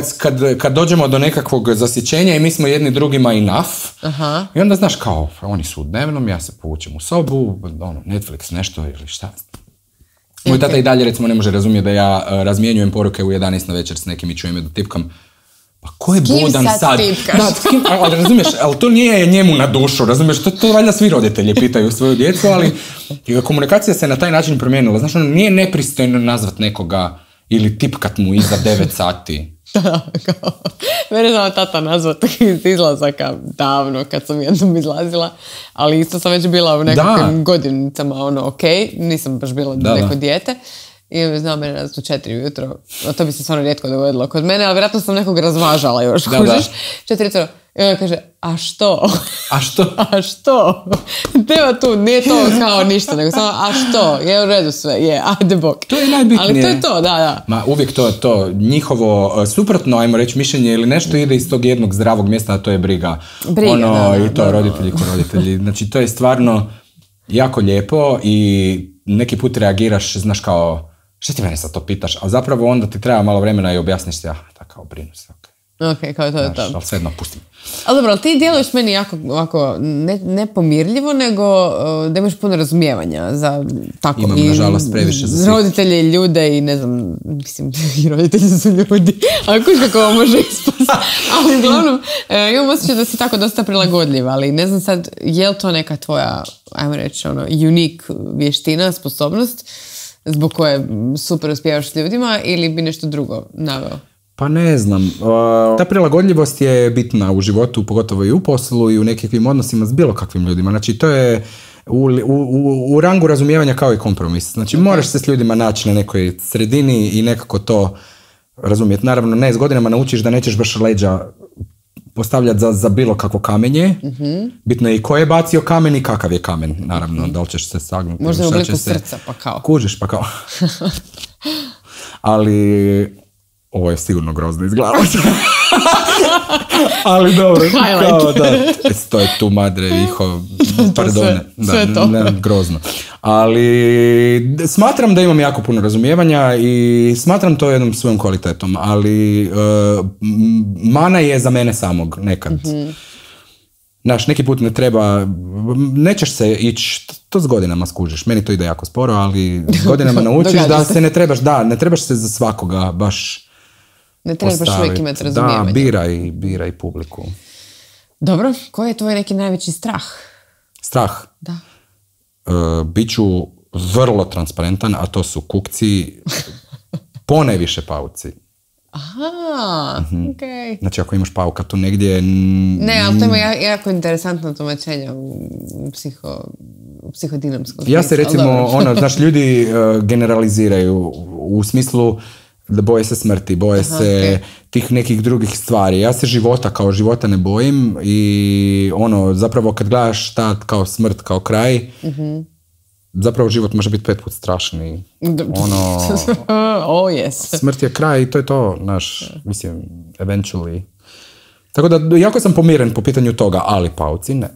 kad dođemo do nekakvog zasićenja i mi smo jedni drugima enough, i onda znaš kao, oni su u dnevnom, ja se povučem u sobu, Netflix nešto ili šta. Moj tata i dalje recimo ne može razumjeti da ja razmjenjujem poruke u 11 na večer s nekim i čujem je da tipkam. Pa ko je budan sad? Ali razumiješ, ali to nije njemu na dušu, razumiješ, to valjda svi roditelji pitaju svoju djecu, ali komunikacija se na taj način promijenila. Znaš, nije nepristojno nazvat nekoga ili tipkat mu iza 9 sati. Mene znao tata nazvat iz izlazaka davno kad sam jednom izlazila, ali isto sam već bila u nekakvim godinicama, nisam baš bila neko dijete. I znao mene nazvat u 4 ujutro. To bi se stvarno rijetko dogodilo kod mene, ali vjerojatno sam nekog razvažala još, kužiš. 4 ujutro. I onda kaže, a što? A što? Nema tu, nije to kao ništa, nego samo, a što? Je u redu sve, ajde bok. To je najbitnije. Ali to je to, da. Ma uvijek to. Njihovo suprotno, ajmo reći, mišljenje ili nešto ide iz tog jednog zdravog mjesta, a to je briga. I to roditelji ko roditelji. Znači, to je stvarno jako lijepo i neki put reagiraš, znaš kao, što ti mene sad to pitaš? A zapravo onda ti treba malo vremena i objasniš se, da kao brinu se, Ok, kao to je to. Ali svejedno pustim. Ali dobro, ali ti djeluješ meni jako ovako, ne pomirljivo, nego da imaš puno razumijevanja za tako. Imam, nažalost, previše za svih. Roditelje i ljude i ne znam, mislim, i roditelji su ljudi. Ako kako ovo može ispasti. Ali uglavnom, imam osjećaj da si tako dosta prilagodljiva, ali ne znam sad, je li to neka tvoja, ajmo reći, unik vještina, sposobnost, zbog koje super uspijevaš s ljudima, ili bi nešto drugo naveo? Pa ne znam. Ta prilagodljivost je bitna u životu, pogotovo i u poslu i u nekakvim odnosima s bilo kakvim ljudima. Znači, to je u rangu razumijevanja kao i kompromis. Znači, moraš se s ljudima naći na nekoj sredini i nekako to razumjeti. Naravno, ne, s godinama naučiš da nećeš baš leđa postavljati za bilo kakvo kamenje. Bitno je i ko je bacio kamen i kakav je kamen. Naravno, da li ćeš se sagnuti. Možda u obliku srca, pa kao. Kužiš, pa kao. Ali ovo je sigurno grozno izgledalo. Ali dobro. Kao, da. To je tu madre, iho, pardone. Sve to. Ne, grozno. Ali smatram da imam jako puno razumijevanja i smatram to jednom svojom kvalitetom, ali mana je za mene samog nekad. Znaš, neki put ne treba, nećeš se ići, to s godinama skužiš, meni to ide jako sporo, ali s godinama naučiš da se ne trebaš se za svakoga baš ne trebaš baš uvijek imati razumijevanje. Da, biraj publiku. Dobro, koji je tvoj neki najveći strah? Strah? Da. Biću vrlo transparentan, a to su kukci, ponajviše pauci. Aha, okej. Znači, ako imaš pauka tu negdje... Ne, ali to ima jako interesantno tumačenje u psihodinamskom smislu. Ja se recimo, znaš, ljudi generaliziraju u smislu da boje se smrti, boje se tih nekih drugih stvari. Ja se života ne bojim i zapravo kad gledaš šta kao smrt, kao kraj, zapravo život može biti 5 puta strašniji. Smrt je kraj i to je to, mislim, eventually. Tako da, jako sam pomiren po pitanju toga, ali pauci ne.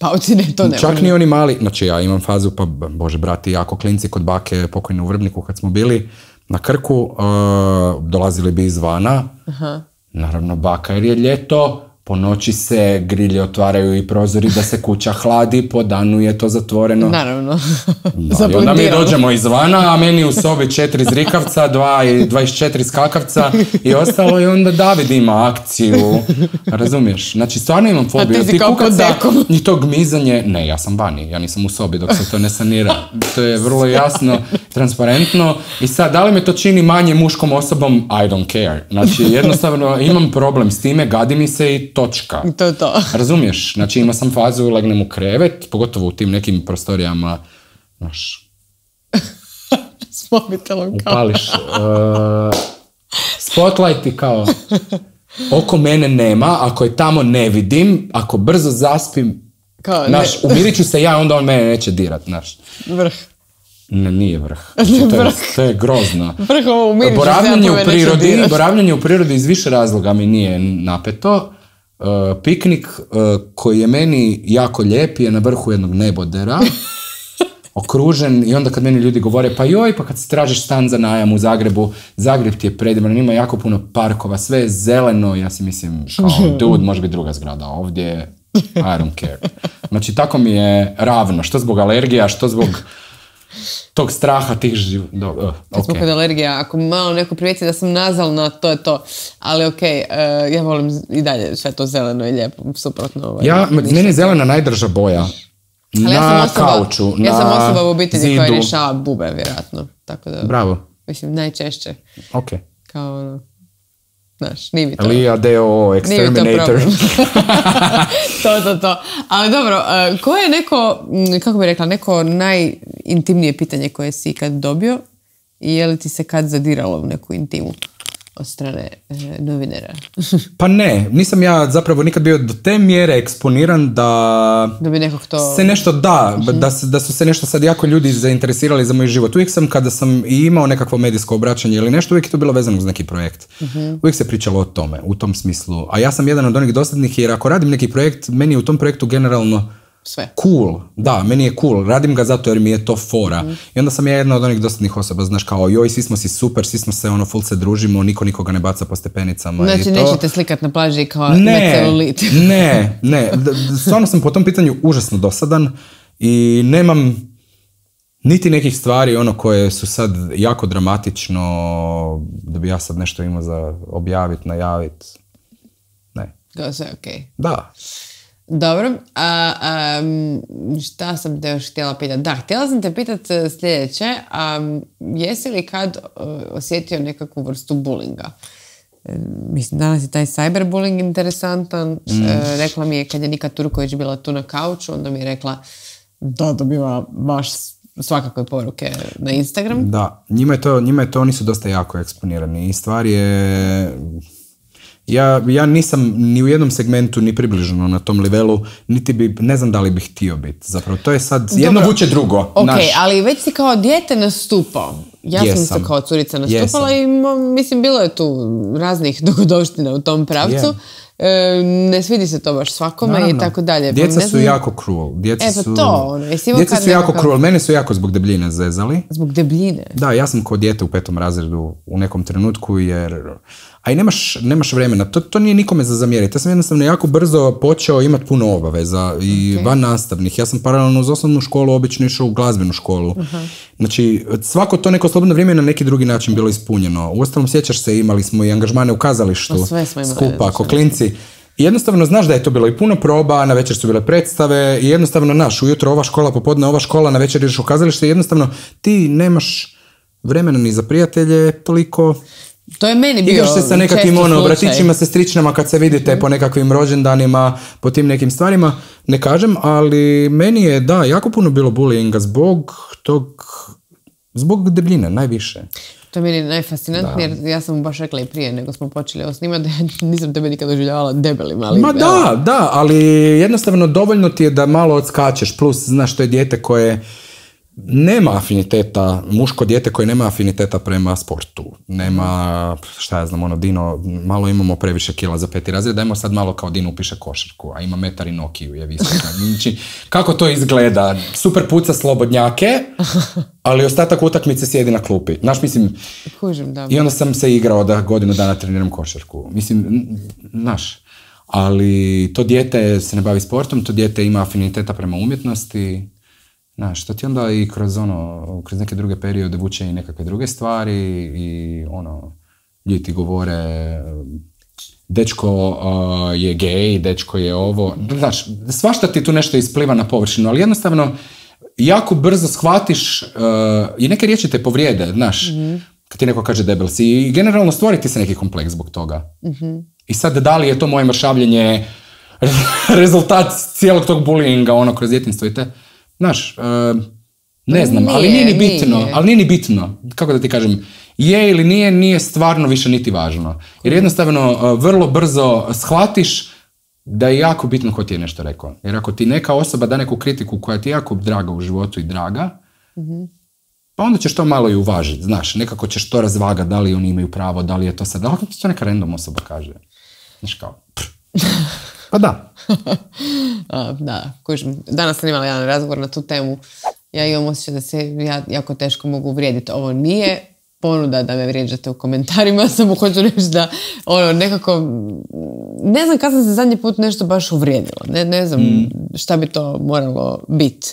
Pauci ne, to ne. Čak ni oni mali, znači ja imam fazu, pa bože brati, jako klinci kod bake pokojne u Vrbniku kad smo bili na Krku, dolazili bi izvana. Naravno baka, jer je ljeto, po noći se grilje otvaraju i prozori da se kuća hladi, po danu je to zatvoreno. Naravno. I onda mi dođemo izvana, a meni u sobi 4 zrikavca, 24 skakavca i ostalo, i onda David ima akciju. Razumiješ? Znači, stvarno imam fobiju. A ti si kao pod dekom. I to gmizanje, ne, ja sam vani, ja nisam u sobi dok se to ne sanira. To je vrlo jasno, transparentno. I sad, da li me to čini manje muškom osobom? I don't care. Znači, jednostavno imam problem s time, gadi mi se i točka. To je to. Razumiješ? Znači, imao sam fazu, legnem u krevet, pogotovo u tim nekim prostorijama, s mobitelom kao. Upališ spotlight i kao oko mene nema, ako je tamo ne vidim, ako brzo zaspim, umirit ću se ja, onda on mene neće dirat, Vrh. Ne, nije vrh. To je grozno. Vrh ovo umirit ću se ja, to me neće dirat. Boravljanje u prirodi iz više razloga mi nije napeto. Piknik koji je meni jako lijep je na vrhu jednog nebodera, okružen, i onda kad meni ljudi govore pa kad se tražiš stan za najam u Zagrebu, Zagreb ti je predivan, ima jako puno parkova, sve je zeleno, ja si mislim kao dude, može biti druga zgrada, ovdje I don't care. Znači tako mi je ravno, što zbog alergija, što zbog tog straha tih Kad smo kod alergija, ako malo neko primijeti da sam nazalna, to je to. Ali ja volim i dalje sve to zeleno i lijepo, suprotno. Meni je zelena najdrža boja. Na kauču, ja sam osoba u obitelji koja rješava bube, vjerojatno. Tako da, bravo. Mislim, najčešće. Ok. Kao, nije mi to. Lija Deo Exterminator. To. Ali dobro, koje je neko, kako bih rekla, neko najintimnije pitanje koje si ikad dobio i je li ti se kad zadiralo u neku intimu od strane novinara? Pa ne, nisam ja zapravo nikad bio do te mjere eksponiran da bi nekog to... se nešto da su se nešto sad jako ljudi zainteresirali za moj život. Uvijek sam, kada sam i imao nekakvo medijsko obraćanje ili nešto, uvijek je to bilo vezano uz neki projekt. Uvijek se pričalo o tome, u tom smislu. A ja sam jedan od onih dosadnih, jer ako radim neki projekt, meni u tom projektu generalno sve. Cool, da, meni je cool, radim ga zato jer mi je to fora. I onda sam ja jedna od onih dosadnih osoba, znaš, kao joj, svi smo si super, svi smo se full se družimo, niko nikoga ne baca po stepenicama. Znači, i to. nećete slikat na plaži kao ima celulit. Ne, stvarno sam po tom pitanju užasno dosadan i nemam niti nekih stvari koje su sad jako dramatično, da bi ja sad nešto imao za objaviti, najaviti. Ne. To sve okej. Da. Dobro, šta sam te još htjela pitati? Da, htjela sam te pitati sljedeće, jesi li kad osjetio nekakvu vrstu bullinga? Mislim, danas je taj cyberbullying interesantan. Rekla mi je kad je Nika Turković bila tu na kauču, onda mi je rekla da dobiva baš svakakve poruke na Instagram. Da, njima je to, oni su dosta jako eksponirani i stvar je... Ja nisam ni u jednom segmentu ni približno na tom levelu, niti bi, ne znam da li bih htio biti. Zapravo, to je sad, jedno vuče drugo. Ok, ali već si kao dijete nastupao. Ja sam se kao curica nastupala i mislim, bilo je tu raznih dogodovština u tom pravcu. Ne svidi se to baš svakome. Naravno. I tako dalje. Djeca su jako cruel. Djeca su jako cruel. Mene su jako zbog debljine zezali. Zbog debljine? Da, ja sam kao dijete u 5. razredu u nekom trenutku jer... A i nemaš vremena. To nije nikome za zamjeriti. Ja sam jednostavno jako brzo počeo imati puno obaveza i van nastavnih. Ja sam paralelno uz osnovnu školu obično išao u glazbenu školu. Znači, svako to neko slobodno vrijeme na neki drugi način bilo ispunjeno. Uostalom, sjećaš se, imali smo i angažmane u kazalištu skupa, ko klinci. I jednostavno znaš da je to bilo i puno proba, na večer su bile predstave i jednostavno ujutro ova škola, popodne ova škola, na večer ideš u kazalište i jednostavno ti nemaš vremena ni za prijatelje toliko. To je meni bio igraš se sa nekakvim bratićima, sestričnama kad se vidite po nekakvim rođendanima, po tim nekim stvarima, ne kažem, ali meni je jako puno bilo bullyinga zbog debljine, najviše. To je meni najfascinantnije, jer ja sam baš rekla i prije nego smo počeli ovo snimati, da nisam tebe nikad doživljavala debelim, ali... Ma da, ali jednostavno dovoljno ti je da malo odskačeš, plus znaš to je dijete koje nema afiniteta, muško dijete koje nema afiniteta prema sportu. Nema, šta ja znam, Dino, malo imamo previše kila za 5. razred, dajmo sad malo kao Dino upiše košarku, a ima metar i Nokiju je visoka. Znači, kako to izgleda? Super puca slobodnjake, ali ostatak utakmice sjedi na klupi. Znaš, mislim, Kužim, da. I onda sam se igrao da godinu dana treniram košarku. Mislim, znaš, ali to dijete se ne bavi sportom, to dijete ima afiniteta prema umjetnosti. Znaš, to ti onda i kroz neke druge periode vuče i nekakve druge stvari i ljudi ti govore dečko je gej, dečko je ovo. Znaš, svašta ti tu nešto ispliva na površinu, ali jednostavno jako brzo shvatiš i neke riječi te povrijede, znaš, kad ti neko kaže debel si i generalno stvoriti se neki kompleks zbog toga. I sad da li je to moje mršavljenje rezultat cijelog tog bullyinga kroz djetinjstvo i te... Znaš, ne znam, ali nije ni bitno, kako da ti kažem, je ili nije stvarno više niti važno. Jer jednostavno vrlo brzo shvatiš da je jako bitno ko ti je nešto rekao. Jer ako ti neka osoba da neku kritiku koja ti je jako draga u životu i draga, pa onda ćeš to malo i uvažiti, znaš, nekako ćeš to razvagati, da li oni imaju pravo, da li je to sad, da li to neka random osoba kaže. Znaš kao, pa da. Da, kužim. Danas sam imala jedan razgovor na tu temu. Ja imam osjećaj da se jako teško mogu uvrijediti. Ovo nije ponuda da me vrijeđate u komentarima, samo hoću reći da nekako, ne znam kad sam se zadnji put nešto baš uvrijedila. Ne znam šta bi to moralo biti.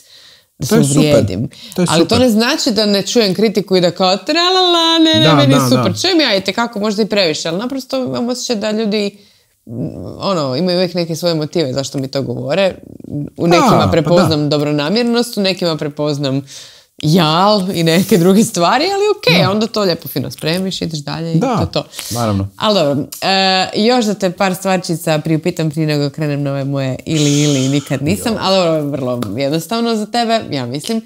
Da se uvrijedim. Ali to ne znači da ne čujem kritiku i da kao tralala, meni super. Čujem ja i tekako možda i previše, ali naprosto imam osjećaj da ljudi imaju uvijek neke svoje motive zašto mi to govore. U nekima prepoznam dobronamjernost, u nekima prepoznam jal i neke druge stvari, ali onda to lijepo fino spremiš, ideš dalje i to. Naravno. Ali dobro, još da te par stvarčica priupitam prije nego krenem na ove moje ili nikad nisam, ali ovo je vrlo jednostavno za tebe, ja mislim.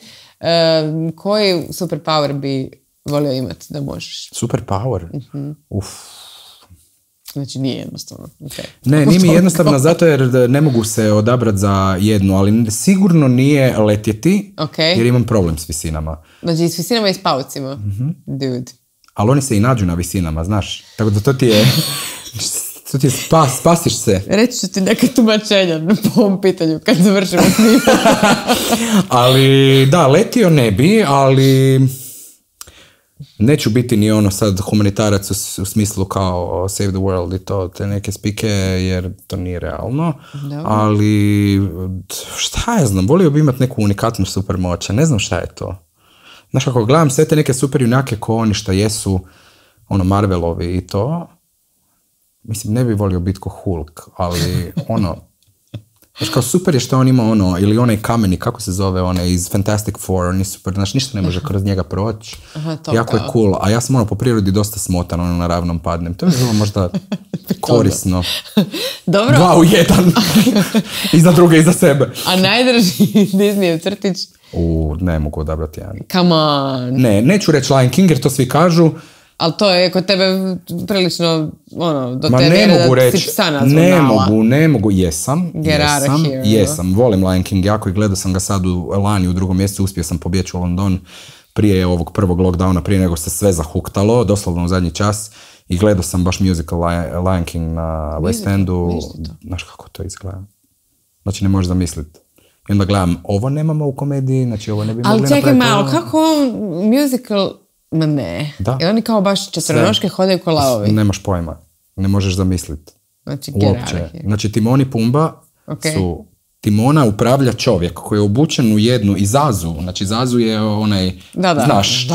Koji superpower bi volio imati da možeš? Superpower? Znači nije jednostavno. Okay. Ne, nije mi jednostavno zato jer ne mogu se odabrati za jednu, ali sigurno nije letjeti jer imam problem s visinama. Znači s visinama i s paucima? Dude. Ali oni se i nađu na visinama, znaš. Tako da to ti je Što ti je spasiš se? Reći ću ti neke tumačenja po ovom pitanju kad završimo snimati. Ali, da, letio ne bi, ali neću biti ni ono sad humanitarac u smislu kao save the world i to, te neke spike, jer to nije realno. Dobro. Ali, šta ja znam, volio bi imati neku unikatnu supermoć, ne znam šta je to. Znaš, kako gledam sve te neke super junake ko oni šta jesu, ono, Marvelovi i to, mislim, ne bi volio biti ko Hulk, ali ono, znaš, kao super je što on ima ono, ili onaj kameni, kako se zove, onaj iz Fantastic Four, on je super, znaš, ništa ne može kroz njega proći, jako je cool, a ja sam ono po prirodi dosta smotan, ono, na ravnom padnem, to je bilo možda korisno. Dobro. 2 u 1, iza druge, iza sebe. A najdraži Disneyev crtić? Ne mogu odabrati jedan. Come on. Ne, neću reći Lion King jer to svi kažu. Ali to je kod tebe prilično, ono, do Ma te ne mjere mogu da reći, si psa nazvao ne mogu, jesam, here, volim Lion King jako i gledao sam ga sad lani u 2. mjesecu, uspio sam pobjeći u London prije ovog prvog lockdowna, prije nego se sve zahuktalo, doslovno u zadnji čas, i gledao sam baš musical Lion King na West Endu, znaš kako to izgleda, znači ne možeš zamisliti. I onda gledam, ovo nemamo u komediji, znači ovo ne bi mogli napraviti. Ali čekaj malo, kako musical, ma ne, jer oni kao baš četvrnoške hodaju ko lavovi. Nemaš pojma, ne možeš zamisliti. Znači, uopće. Znači, Timon i Pumba su, Timona upravlja čovjek koji je obučen u jednu, i Zazu, znači Zazu je onaj, znaš,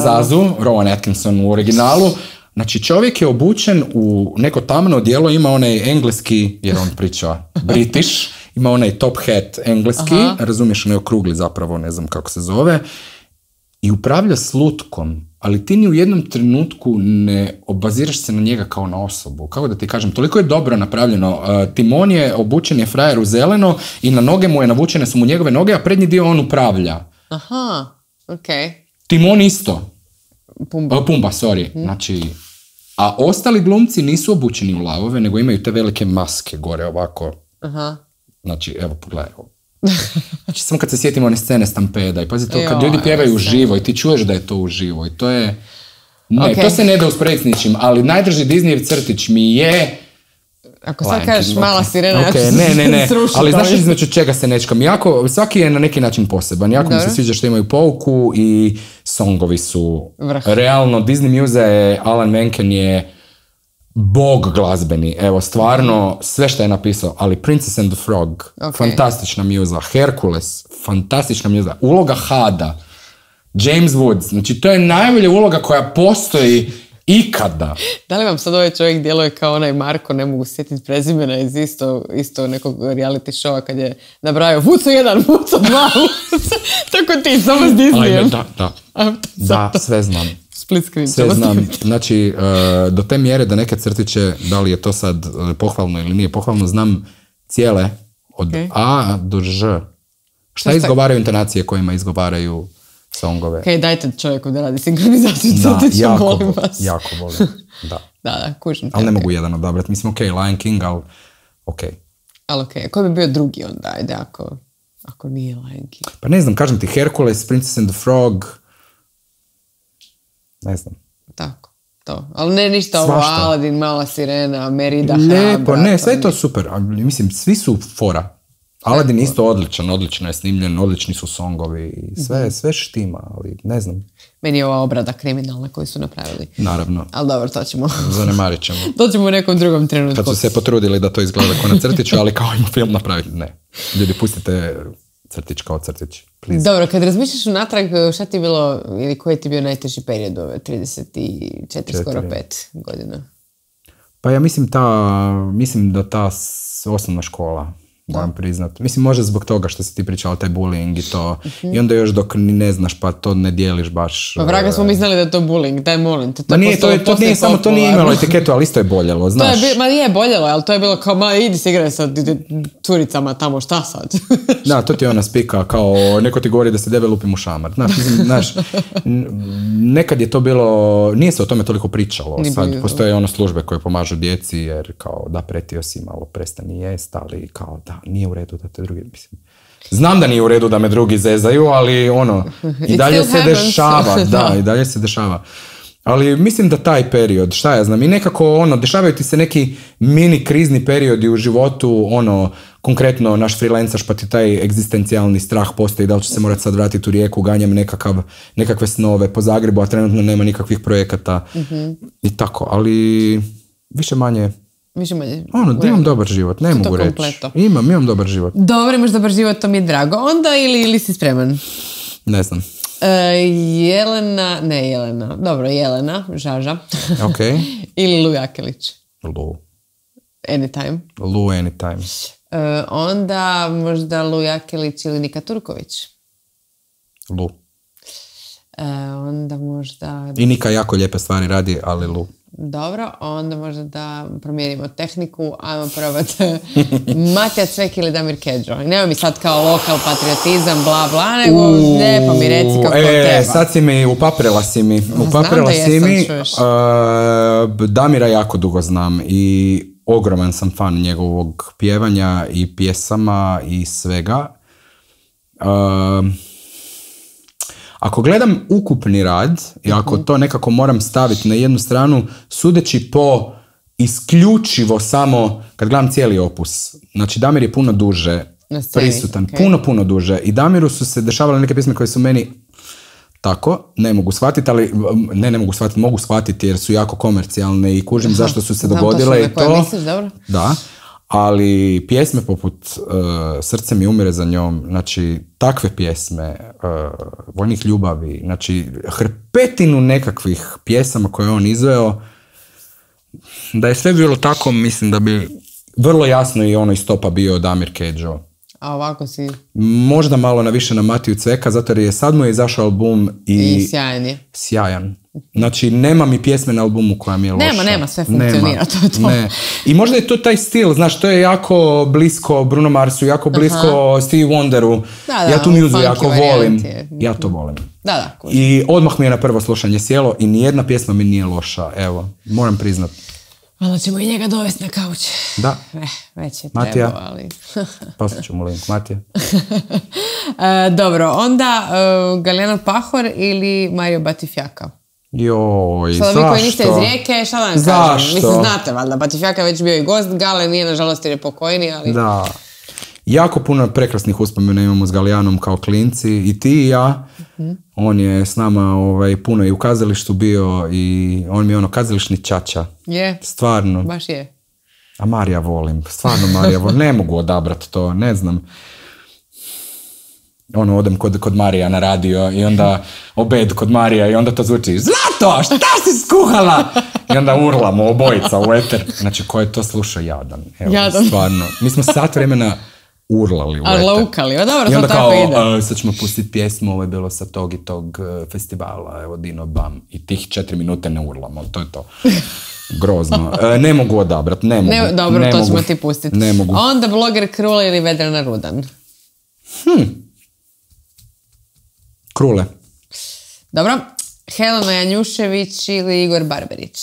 Zazu, Rowan Atkinson u originalu, znači čovjek je obučen u neko tamno odijelo, ima onaj engleski, jer on priča British, ima onaj top hat engleski, razumiješ, onaj okrugli zapravo, ne znam kako se zove, i upravlja s lutkom, ali ti ni u jednom trenutku ne obaziraš se na njega kao na osobu. Kako da ti kažem, toliko je dobro napravljeno. Timon je obučen je frajer u zeleno i na noge mu je navučene su mu njegove noge, a prednji dio on upravlja. Aha, okej. Timon isto. Pumba, sorry. Znači, a ostali glumci nisu obučeni u lavove, nego imaju te velike maske gore ovako. Aha. Znači, evo, pogledaj ovo. Znači, samo kad se sjetimo one scene Stampeda i pazi to, kad ljudi pjevaju uživo i ti čuješ da je to uživo i to je... Ne, to se ne da usporediti s ničim, ali najdraži Disneyev crtić mi je... Ako sad kažeš Mala sirena, ja ću ne, ali znaš između čega se nečkam? Svaki je na neki način poseban. Jako mi se sviđa što imaju pouku i songovi su... Realno, Disney Muse je, Alan Menken je bog glazbeni, evo, stvarno, sve što je napisao, ali Princess and the Frog, fantastična mjuza, Hercules, fantastična mjuza, uloga Hada, James Woods, znači to je najbolja uloga koja postoji ikada. Da li vam sad ovaj čovjek djeluje kao onaj Marko, ne mogu sjetiti prezimena iz isto nekog reality showa kad je nabrajao Vuco 1, Vuco 2, tako ti, samo s Disneyem. Da, sve znam. Split screen. Sve znam, znači do te mjere da neke crtiće, da li je to sad pohvalno ili nije pohvalno, znam cijele od A do Ž. Šta izgovaraju intonacije kojima izgovaraju songove? Ok, dajte čovjeku da radi sinkronizaciju crtića, molim vas. Jako volim, da. Da, kužim. Ali ne mogu jedan odabrati, mislim Lion King, ali Ali koji bi bio drugi onda, ajde, ako nije Lion King? Pa ne znam, kažem ti, Hercules, Princess and the Frog, ne znam. Tako, to. Ali ne ništa ovo, Aladdin, Mala sirena, Merida, Lijepo, ne, sve je to super. Mislim, svi su fora. Aladdin isto odlično je snimljen, odlični su songovi, sve štima, ali ne znam. Meni je ova obrada kriminalna koju su napravili. Naravno. Ali dobro, to ćemo... Zanemarit ćemo. To ćemo u nekom drugom trenutku. Kad su se potrudili da to izgleda kao na crtiću, ali kao ima film napraviti, ne. Ljudi, pustite crtić kao crtić. Please. Dobro, kad razmišljaš unatrag, šta ti je bilo, ili koji ti je bio najteži period ove 34, skoro 5 godina? Pa ja mislim da ta osnovna škola, moram priznat. Mislim, možda zbog toga što si ti pričala, taj bullying i to. I onda još dok ni ne znaš, pa to ne dijeliš baš. Pa vraga smo mi znali da je to bullying, daj molim te. To nije samo, to nije imalo etiketu, ali isto je boljelo, znaš. Ma je boljelo, ali to je bilo kao, idi se igraj sa curicama tamo, šta sad? Da, to ti ona spika, kao neko ti govori da se debe lupim u šamar. Znaš, nekad je to bilo, nije se o tome toliko pričalo. Sad postoje službe koje pomažu djeci, jer kao da pretio si malo, prestani jest, ali kao da nije u redu da te drugi, mislim. Znam da nije u redu da me drugi zezaju, ali i dalje se dešava. Da, i dalje se dešava. Ali mislim da taj period, šta ja znam, i nekako dešavaju ti se neki mini krizni periodi u životu, konkretno naš freelancaš pa ti taj egzistencijalni strah postoji, da li će se morati sad vratiti u Rijeku, ganjam nekakve snove po Zagrebu, a trenutno nema nikakvih projekata i tako, ali više manje imam dobar život, ne mogu reći. Imam dobar život. Dobro, imaš dobar život, to mi je drago. Onda ili si spreman? Ne znam. Jelena, Žaža. Ok. Ili Lu Jakelić? Lu. Anytime. Lu anytime. Onda možda Lu Jakelić ili Nika Turković? Lu. Onda možda... I Nika jako lijepe stvari radi, ali Lu. Dobro, onda možda da promijenimo tehniku, ajmo probati Matija Cvek ili Damir Kedžo. I nema mi sad kao lokal patriotizam, bla bla, nego lijepo mi reci kako treba. Sad si mi, upaprela si mi. Damira jako dugo znam i ogroman sam fan njegovog pjevanja i pjesama i svega. Ako gledam ukupni rad i ako to nekako moram staviti na jednu stranu, sudeći po isključivo samo, kad gledam cijeli opus, znači Damir je puno duže prisutan, puno duže, i Damiru su se dešavale neke pjesme koje su meni tako, ne mogu shvatiti, ali ne mogu shvatiti, mogu shvatiti jer su jako komercijalne i kužim zašto su se dogodile i to. Misliš, dobro? Da. Ali pjesme poput Srce mi umire za njom, znači takve pjesme, Vojnih ljubavi, znači hrpetinu nekakvih pjesama koje on izveo, da je sve bilo tako, mislim da bi vrlo jasno i iz topa bio Damir Kedžo. A ovako si... Možda malo više na Matiju Cveka, zato jer sad mu je izašao album i sjajan je. Sjajan. Znači, nema mi pjesme na albumu koja mi je loša. Nema, sve funkcionira, to je to. Ne. I možda je to taj stil, znaš, to je jako blisko Bruno Marsu, jako blisko Stevie Wonderu. Ja tu muzu jako volim. Ja to volim. Da. I odmah mi je na prvo slušanje sjelo i nijedna pjesma mi nije loša, evo, moram priznat. Malo ćemo i njega dovesti na kauč. Da. Već je Matija. trebao, ali... Poslat ću mu link, Matija. Dobro, onda Galijana Pahor ili Mario Batifjaka? Joj, zašto? Sada vi koji niste iz Rijeke, šta da vam kažem? Zašto? Mislim, znate, valjda, Batifjaka je već bio i gost, Gale nije, nažalost, jer je pokojni, ali... Da. Jako puno prekrasnih uspomena imamo s Galijanom kao klinci, i ti i ja. On je s nama puno i u kazalištu bio i on mi je kazališni čača. Je. Stvarno. Baš je. A Marija volim, stvarno Marija volim, ne mogu odabrati to, ne znam. Odem kod Marija na radio i onda obed kod Marija i onda to zvuči: Zlato, šta si skuhala? I onda urlamo obojica u eter. Znači, ko je to slušao, jadan. Evo, jadan. Stvarno. Mi smo sat vremena urlali u eter. Arlaukali, dobro, i onda to kao, tako ide. Sad ćemo pustiti pjesmu, ovo je bilo sa tog i tog festivala, evo Dino Bam. I tih 4 minute ne urlamo, to je to. Grozno. Ne mogu odabrati, ne mogu. Dobro, ne to mogu. ćemo ti pustiti. Ne mogu. Onda bloger Krula ili Vedrana Rudan? Krule. Dobro. Helena Janjušević ili Igor Barberić?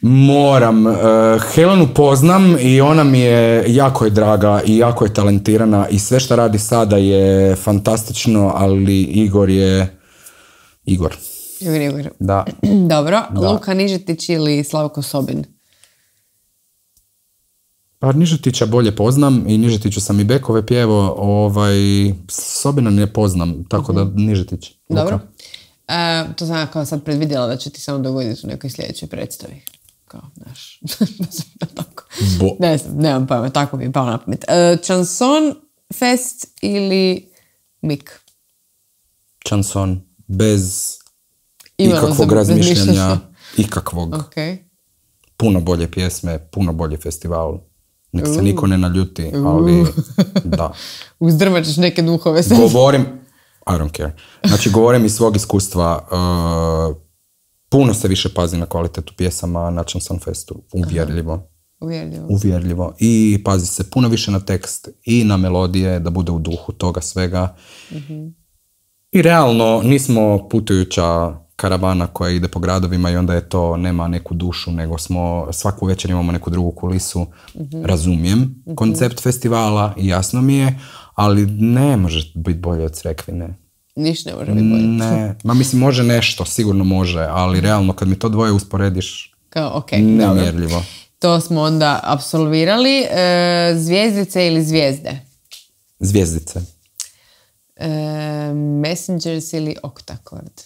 Moram. Helenu poznam i ona mi je jako draga i jako je talentirana i sve što radi sada je fantastično, ali Igor je Igor. Igor. Da. Dobro. Da. Luka Nižetić ili Slavko Sobin? Pa Nižetića bolje poznam i Nižetiću sam i bekove pjevao, Sobina ne poznam, tako da Nižetić. Luka. Dobro. To sam kao sad predvidjela da će ti samo dogoditi u nekoj sljedećoj predstavi. Kao, znaš, tako. Ne znam, nemam pojma, tako mi je pao na pamet. Chanson Fest ili Mik? Chanson, bez ikakvog razmišljanja, ikakvog. Okay. Puno bolje pjesme, puno bolji festival. Nek se niko ne naljuti, ali da. Uzdrmat ćeš neke duhove sad. Govorim, I don't care. Znači, govorim iz svog iskustva, puno se više pazi na kvalitetu pjesama na Chanson Festu. Uvjerljivo. I pazi se puno više na tekst i na melodije, da bude u duhu toga svega. I realno nismo putujuća karavana koja ide po gradovima i onda je to, nema neku dušu, nego smo svaku večer imamo neku drugu kulisu. Razumijem koncept festivala i jasno mi je, ali ne može biti bolje od Cvekvine. Ništa ne može biti bolje. Ne, ma mislim može nešto, sigurno može, ali realno kad mi to dvoje usporediš, Kao, ok, nemjerljivo. To smo onda apsolvirali. Zvijezdice ili zvijezde? Zvijezdice. Messengers ili Octacord?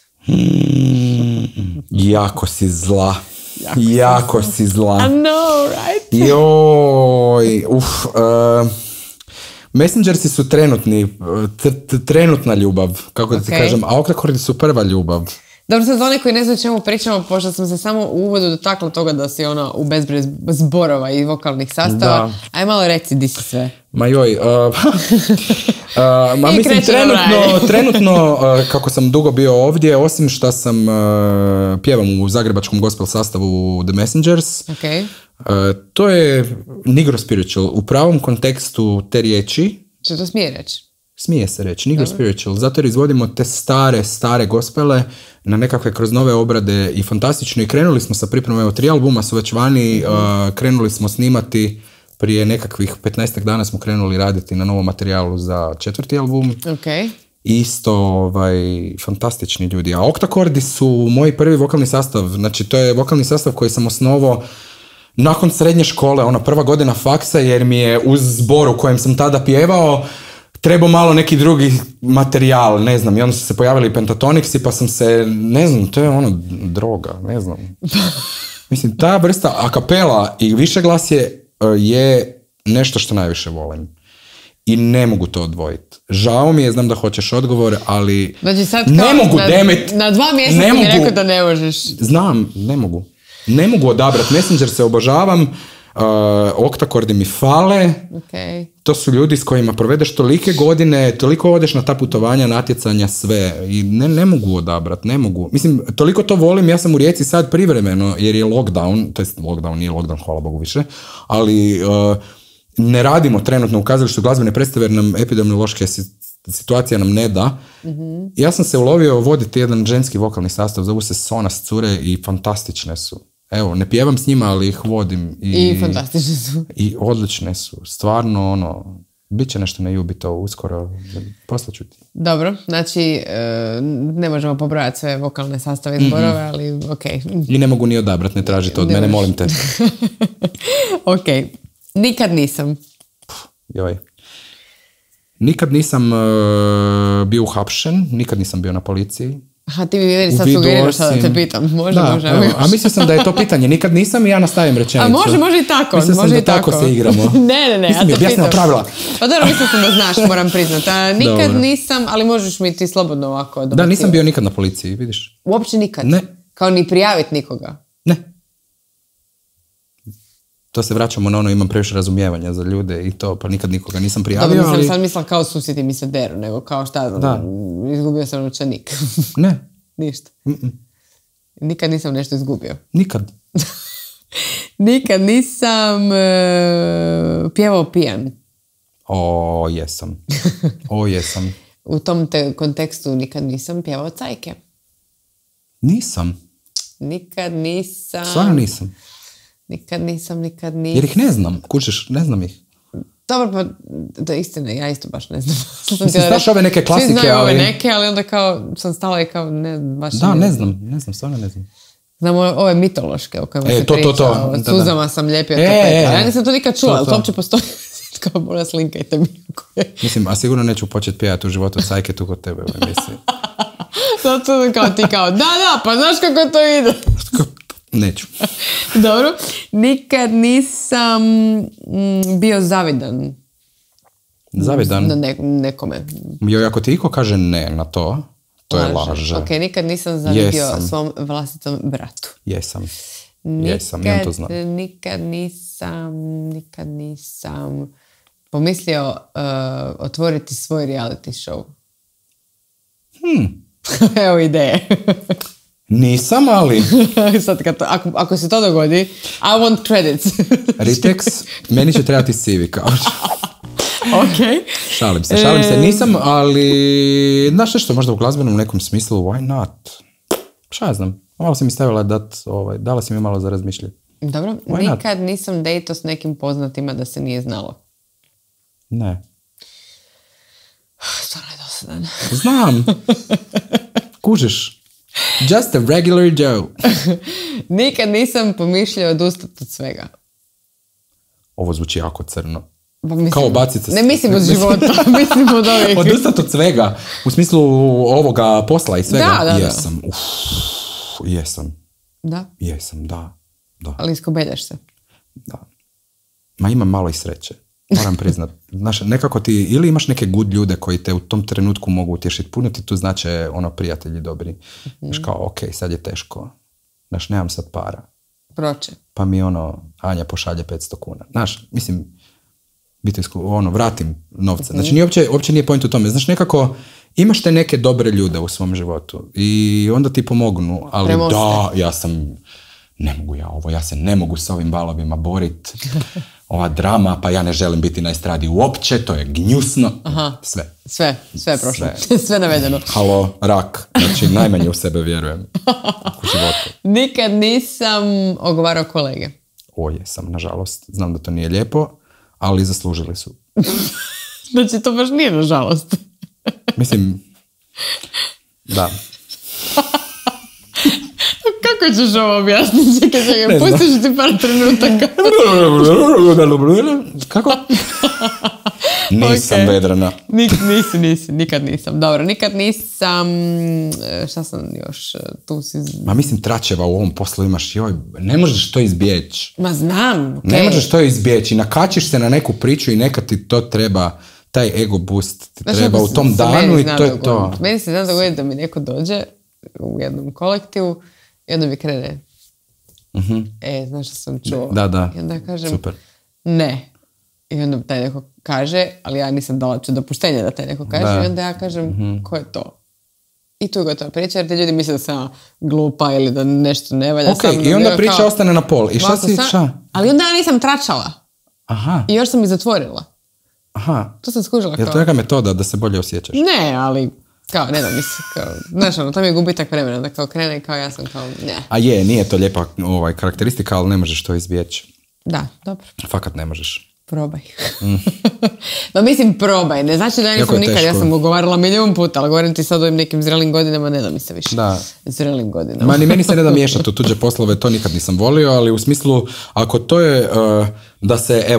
Jako si zla. Jako si zla. I know, right? Joj, Messengersi su trenutna ljubav, kako da ti kažem, a Octacordi su prva ljubav. Dobro, sad za one koji ne znaju čemu pričamo, pošto sam se samo u uvodu dotakla toga da si ona u bezbroj zborova i vokalnih sastava. Aj malo reci di si sve. Ma joj, mislim trenutno kako sam dugo bio ovdje, osim što sam pjevam u zagrebačkom gospel sastavu The Messengers, to je Negro Spiritual, u pravom kontekstu te riječi. Što to smije reći? Smije se reći, Negro Spiritual, zato jer izvodimo te stare gospele na nekakve kroz nove obrade i fantastično, i krenuli smo sa pripremom, evo 3 albuma su već vani, krenuli smo snimati prije nekakvih 15 dana smo krenuli raditi na novom materijalu za 4. album. Isto fantastični ljudi. A Octacordi su moj prvi vokalni sastav, znači to je vokalni sastav koji sam osnovao nakon srednje škole, ona prva godina faksa, jer mi je uz zbor u kojem sam tada pjevao trebao malo neki drugi materijal, ne znam, i onda su se pojavili Pentatonixi, pa sam se, ne znam, to je ono droga, ne znam. Mislim, ta vrsta akapela i višeglasje je nešto što najviše volim. I ne mogu to odvojiti. Žao mi je, znam da hoćeš odgovor, ali znači sad ne mogu, na 2 mjeseca ti mi rekao da ne možeš. Znam, ne mogu. Ne mogu odabrati. Messenger se obožavam, Octacordi mi fale. To su ljudi s kojima provedeš tolike godine, toliko odeš na ta putovanja, natjecanja, sve. I ne mogu odabrati, ne mogu. Mislim, toliko to volim, ja sam u Rijeci sad privremeno, jer je lockdown, to jest lockdown, nije lockdown, hvala Bogu više, ali ne radimo trenutno u kazalištu glazbene predstave jer nam epidemiološka situacija nam ne da. Ja sam se ulovio voditi jedan ženski vokalni sastav, zovu se Sonas cure i fantastične su. Evo, ne pjevam s njima, ali ih vodim. I fantastične su. I odlične su. Stvarno, bit će nešto na Jubito uskoro. Poslaću ti. Dobro, znači ne možemo pobrojati sve vokalne sastave i zborove, ali I ne mogu ni odabrati, ne tražite od mene, molim te. Nikad nisam. Joj. Nikad nisam bio uhapšen, nikad nisam bio na policiji. Aha, ti mi meni sad sugeriraš da te pitam. Može. A mislio sam da je to pitanje. Nikad nisam i ja nastavim rečenicu. A može i tako. Mislio sam da tako se igramo. Ne, mislim, ja te pitam. Pravila. Pa dobro, mislio sam da znaš, moram priznat. Nikad nisam, ali možeš mi ti slobodno ovako dobaciti. Da, nisam bio nikad na policiji, vidiš. Uopće nikad? Ne. Kao ni prijaviti nikoga? Ne. To se vraćamo na ono, imam previše razumijevanja za ljude i to, pa nikad nikoga nisam prijavio. Dobro, ali sad mislila kao susjeti mi se deru, nego kao šta, izgubio sam novčanik. Ne. Ništa. Nikad nisam nešto izgubio. Nikad. Nikad nisam pjevao pijan. Jesam. U tom kontekstu nikad nisam pjevao cajke. Nisam. Nikad nisam. Stvarno nisam. Nikad nisam. Jer ih ne znam, kućeš, ne znam ih. Dobro, pa da istina, ja isto baš ne znam. Mislim, znaš ove neke klasike, svi znaju ove neke, ali onda kao sam stala i kao ne, baš ne znam, stvarno ne znam. Znam ove mitološke o kojima se priča, o suzama sam lijepio tapeta. Ja nisam to nikad čula, ali to uopće postoji. Kao mola slinkajte mi. Mislim, a sigurno neću početi pijati u životu cajke tu kod tebe u emisiji. Zato kao ti kao, da, pa znaš kako to ide. Neću. Dobro. Nikad nisam bio zavidan. Zavidan? Na nekome. Joj, ako ti iko kaže ne na to, to je laže. Ok, nikad nisam zavidio svom vlastitom bratu. Jesam, ja to znam. Nikad nisam pomislio otvoriti svoj reality show. Evo ideje. Nisam, ali... Sad, ako se to dogodi, I want credits. Ritex, meni će trebati CV kao. Ok. Šalim se. Nisam, ali... Znaš nešto, možda u glazbenom nekom smislu, why not? Šta ja znam? Malo si mi stavila dala si mi malo za razmišljati. Dobro, nikad nisam dejto s nekim poznatima da se nije znalo. Ne. Stvarno je dosta dosadan. Znam. Kužiš. Just a regular Joe. Nikad nisam pomišljao odustati od svega. Ovo zvuči jako crno. Pa mislim, kao bacit se... Ne mislim od života, mislim od ovih. Odustati od svega. U smislu ovoga posla i svega. Da. Jesam. Jesam. Da? Jesam, da. Ali iskobeljaš se. Da. Ma imam malo i sreće. Moram priznat. Znaš, nekako ti, ili imaš neke good ljude koji te u tom trenutku mogu utješiti. Puno ti tu znače prijatelji dobri. Znaš kao, ok, sad je teško. Znaš, nemam sad para. Proće. Pa mi Anja pošalje 500 kuna. Znaš, mislim, vratim novce. Znači, uopće nije point u tome. Znaš, nekako, imaš te neke dobre ljude u svom životu i onda ti pomognu, ali premoste. Ja se ne mogu s ovim valovima boriti. Ova drama, pa ja ne želim biti na estradi uopće, to je gnjusno. Aha. Sve je prošlo. Sve navedeno. Halo, rak. Znači, najmanje u sebe vjerujem u životu. Nikad nisam ogovarao kolege. Jesam, nažalost. Znam da to nije lijepo, ali zaslužili su. Znači, to baš nije nažalost. Mislim, da. Kako ćeš ovo objasniti? Čekaj, pustiš ti par trenutaka. Kako? Nisam vedrana. Nisi, nikad nisam. Dobro, nikad nisam... Šta sam još tu si... Ma mislim, tračeva u ovom poslu imaš, ne možeš to izbjeći. Ma znam, okay. Ne možeš to izbjeći. Nakačiš se na neku priču i nekad ti to treba, taj ego boost ti treba u tom danu i to je to. Meni se zna dogoditi da mi neko dođe u jednom kolektivu i onda mi krene. Znaš što sam čuo? Da. I onda kažem, super. Ne. I onda taj neko kaže, ali ja nisam dala dopuštenje da taj neko kaže, i onda ja kažem, ko je to? I tu je gotova priča, jer ti ljudi misle da sam glupa ili da nešto ne valja. I onda priča ostane na pol. I šta si? Ali onda ja nisam tračala. Aha. I još sam ih zatvorila. Aha. To sam skužila kao. Je to neka metoda da se bolje osjećaš? Ne, ali kao, ne da mi se, kao, znaš, to mi je gubitak vremena, da kao krene i kao ja sam kao, ne. A nije to lijepa karakteristika, ali ne možeš to izbjeći. Da, dobro. Fakat ne možeš. Probaj. Ma mislim, probaj. Ne znači da ja nisam nikad, ja sam ugovarala 1.000.000 puta, ali govorim ti sad o ovim nekim zrelim godinama, ne da mi se više. Da. Zrelim godinama. Ni meni se ne da miješati u tuđe poslove, to nikad nisam volio, ali u smislu, ako to je,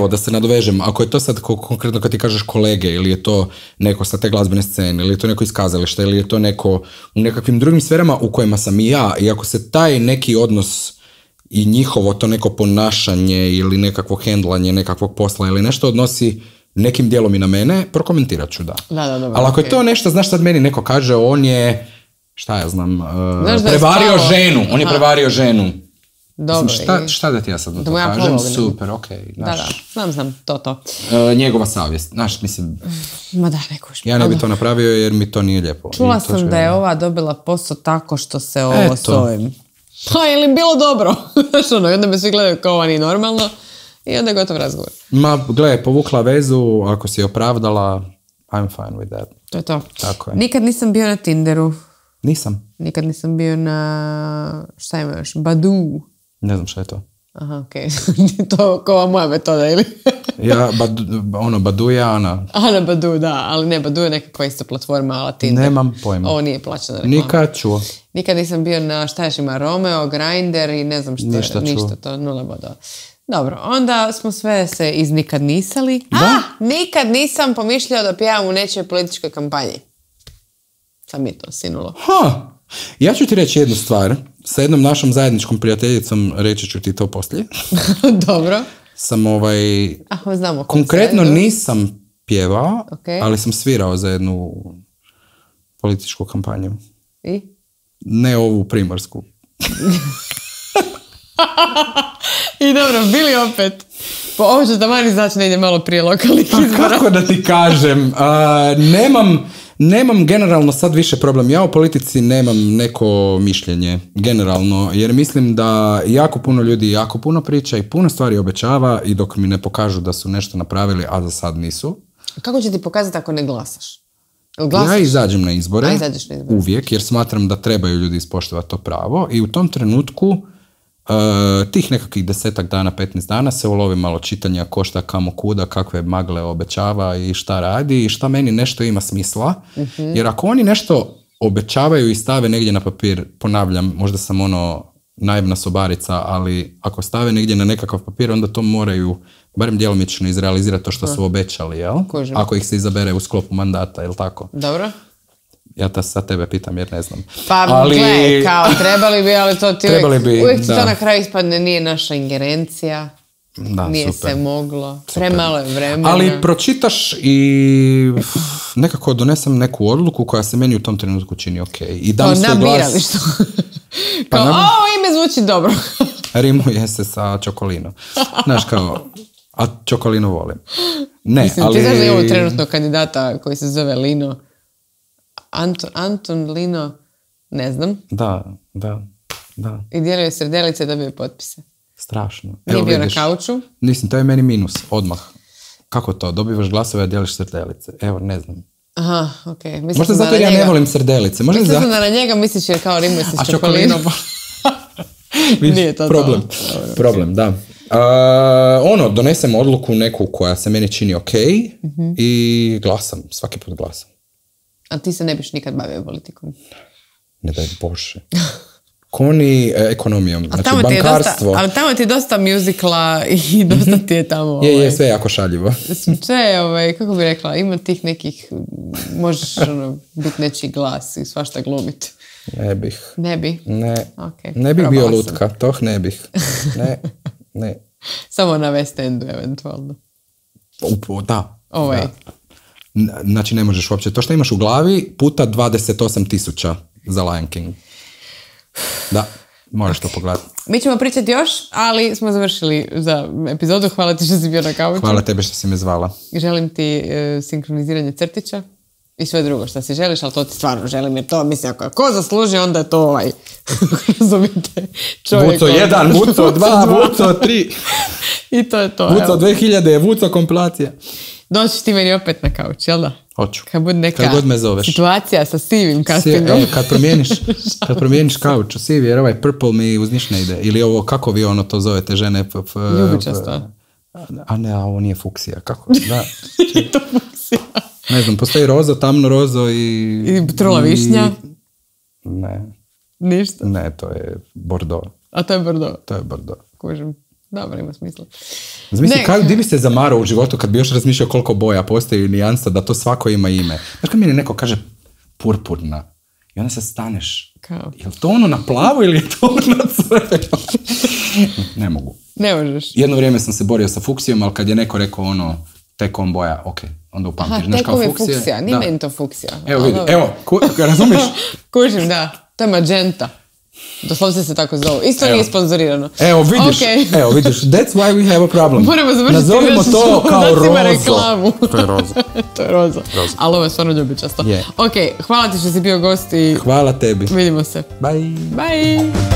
da se nadovežem, ako je to sad konkretno kad ti kažeš kolege, ili je to neko sa te glazbene scene, ili je to neko iz kazališta, ili je to neko u nekakvim drugim sferama u kojima sam i ja, i ako se taj neki odnos i njihovo to neko ponašanje ili nekakvo hendlanje nekakvog posla ili nešto odnosi nekim dijelom i na mene, prokomentirat ću, da. Dobro, ali ako je to nešto, znaš, sad meni neko kaže, on je, šta ja znam, prevario ženu, on je prevario ženu. Dobro. Mislim, šta da ti ja sad na to kažem? Super, okej. Da, znam, to. Njegova savjest, znaš, mislim... Ma da, nekuš. Ja ne bi to napravio jer mi to nije lijepo. Čula sam da je ova dobila posao tako što se ovo s ovim... Pa, je li bilo dobro? Znaš i onda me svi gledaju kao ovo nije normalno i onda je gotov razgovor. Ma, gle, povukla vezu, ako si je opravdala, I'm fine with that. To je to. Tako je. Nikad nisam bio na Tinderu. Nisam. Nikad nisam bio na, šta ima još, Badoo. Ne znam šta je to. Aha, okej. To kao moja metoda, ili? Ja, Badoo je Ana. Ana Badoo, da, ali ne, Badoo je nekakva isto platforma, ali Tinder. Nemam pojma. Ovo nije plaćena reklama. Nikad čuo. Nikad nisam bio na, šta još ima, Romeo, Grindr i ne znam što je. Ništa to, 0 bodova. Dobro, onda smo sve se iznikad nisali. Da? Nikad nisam pomišljao da pjevam u nečoj političkoj kampanji. Sad mi je to sinulo. Ja ću ti reći jednu stvar. Sa jednom našom zajedničkom prijateljicom, reći ću ti to poslije. Dobro. Sam znamo konkretno nisam pjevao, ali sam svirao za jednu političku kampanju. I? Ne ovu primorsku. I dobro, bili opet. Pa ovo ću tamani znači ne ide malo prije lokalnih izbora. Kako da ti kažem? Nemam generalno sad više problem. Ja u politici nemam neko mišljenje generalno, jer mislim da jako puno ljudi jako puno priča i puno stvari obećava i dok mi ne pokažu da su nešto napravili, a za sad nisu. Kako će ti pokazati ako ne glasaš? Ja izađem na izbore uvijek, jer smatram da trebaju ljudi ispoštovati to pravo i u tom trenutku tih nekakvih 10 dana, 15 dana se ulovi malo čitanja ko šta, kamo, kuda, kakve magle obećava i šta radi i šta meni nešto ima smisla. Jer ako oni nešto obećavaju i stave negdje na papir, ponavljam, možda sam naivna sobarica, ali ako stave negdje na nekakav papir, onda to moraju barem djelomično izrealizirati to što su obećali, jel? Kužim. Ako ih se izabere u sklopu mandata, jel tako? Dobro. Ja sad tebe pitam jer ne znam. Pa gle, kao trebali bi, ali to ti uvijek ti to na kraju ispadne, nije naša ingerencija. Da, nije super. se moglo. Premalo je vremena. Ali pročitaš i nekako donesem neku odluku koja se meni u tom trenutku čini ok. I dam svoj glas. Što? Kao, ime zvuči dobro. Rimuje se sa Čokolino. Znaš kao, a Čokolino volim. Ne, mislim, ali... ti znaš da je ovo trenutno kandidata koji se zove Lino. Anton Lino, ne znam. Da. I dijelio je srdelice da bi potpise. Strašno. Nije bio na kauču. Nisam, to je meni minus, odmah. Kako to? Dobivaš glasove, a dijeliš srdelice. Evo, ne znam. Aha, okej. Okay. Možda zato ja ne volim srdelice. Mislim da na njega misliš jer kao rimuje se s Čokolinom. Nije to Problem, da. Donesem odluku neku koja se meni čini ok i glasam, svaki put glasam. A ti se ne biš nikad bavio politikom? Ne daj Bože. Koni ekonomijom, znači bankarstvo. Ali tamo ti je dosta muzikla i dosta ti je tamo... Je, sve jako šaljivo. Sve, kako bi rekla, ima tih nekih, možeš biti nečiji glas i svašta glumiti. Ne bih. Ne bi? Ne. Okay, ne bih bio lutka, toh ne bih. Ne. Samo na West Endu, eventualno. Da. Da. Znači ne možeš uopće. To što imaš u glavi puta 28,000 za Lion King. Da, moraš to pogledati. Mi ćemo pričati još, ali smo završili za epizodu. Hvala ti što si bio na kauču. Hvala tebi što si me zvala. Želim ti sinkroniziranje crtića i sve drugo što si želiš, ali to ti stvarno želim, jer to mislim, ako zasluži, onda je to razumijete, čovjek. Vuco 1, Vuco 2, Vuco 3. I to je to. Vuco 2000, Vuco kompilacija. Doći ti meni opet na kauč, jel da? Hoću. Kad bude neka god me zoveš. Situacija sa sivim castingom. Kad promijeniš kauč u sivi, jer ovaj purple mi uz niš ne ide. Ili ovo, kako vi to zovete žene? Ljubičasto. A ne, a ovo nije fuksija. Kako? Da. Nije to fuksija. Ne znam, postoji rozo, tamno rozo i... I trula višnja? Ne. Ništa? Ne, to je Bordeaux. A to je Bordeaux? To je Bordeaux. Kužim. Dobro, ima smisla. Zamisli, di bi se zamarao u životu kad bi još razmišljao koliko boja postoji nijansa, da to svako ima ime. Znaš kad mi neko kaže purpurna i onda se staneš. Kao? Je li to na plavo ili je to na crveno? Ne mogu. Ne možeš. Jedno vrijeme sam se borio sa fuksijom, ali kad je neko rekao tekom boja, ok, onda upamtiš. Aha, tekom je fuksija, nije meni to fuksija. Evo vidi, razumiš? Kužim, da. To je magenta. Doslovce se tako zovu. Isto nije sponzorirano. Evo vidiš, that's why we have a problem. Moramo završiti. Nazovimo to kao rozo. Reklamu. To je rozo. To je rozo. Ali ovo je stvarno ljubičasto. Ok, hvala ti što si bio gost i... Hvala tebi. Vidimo se. Bye. Bye.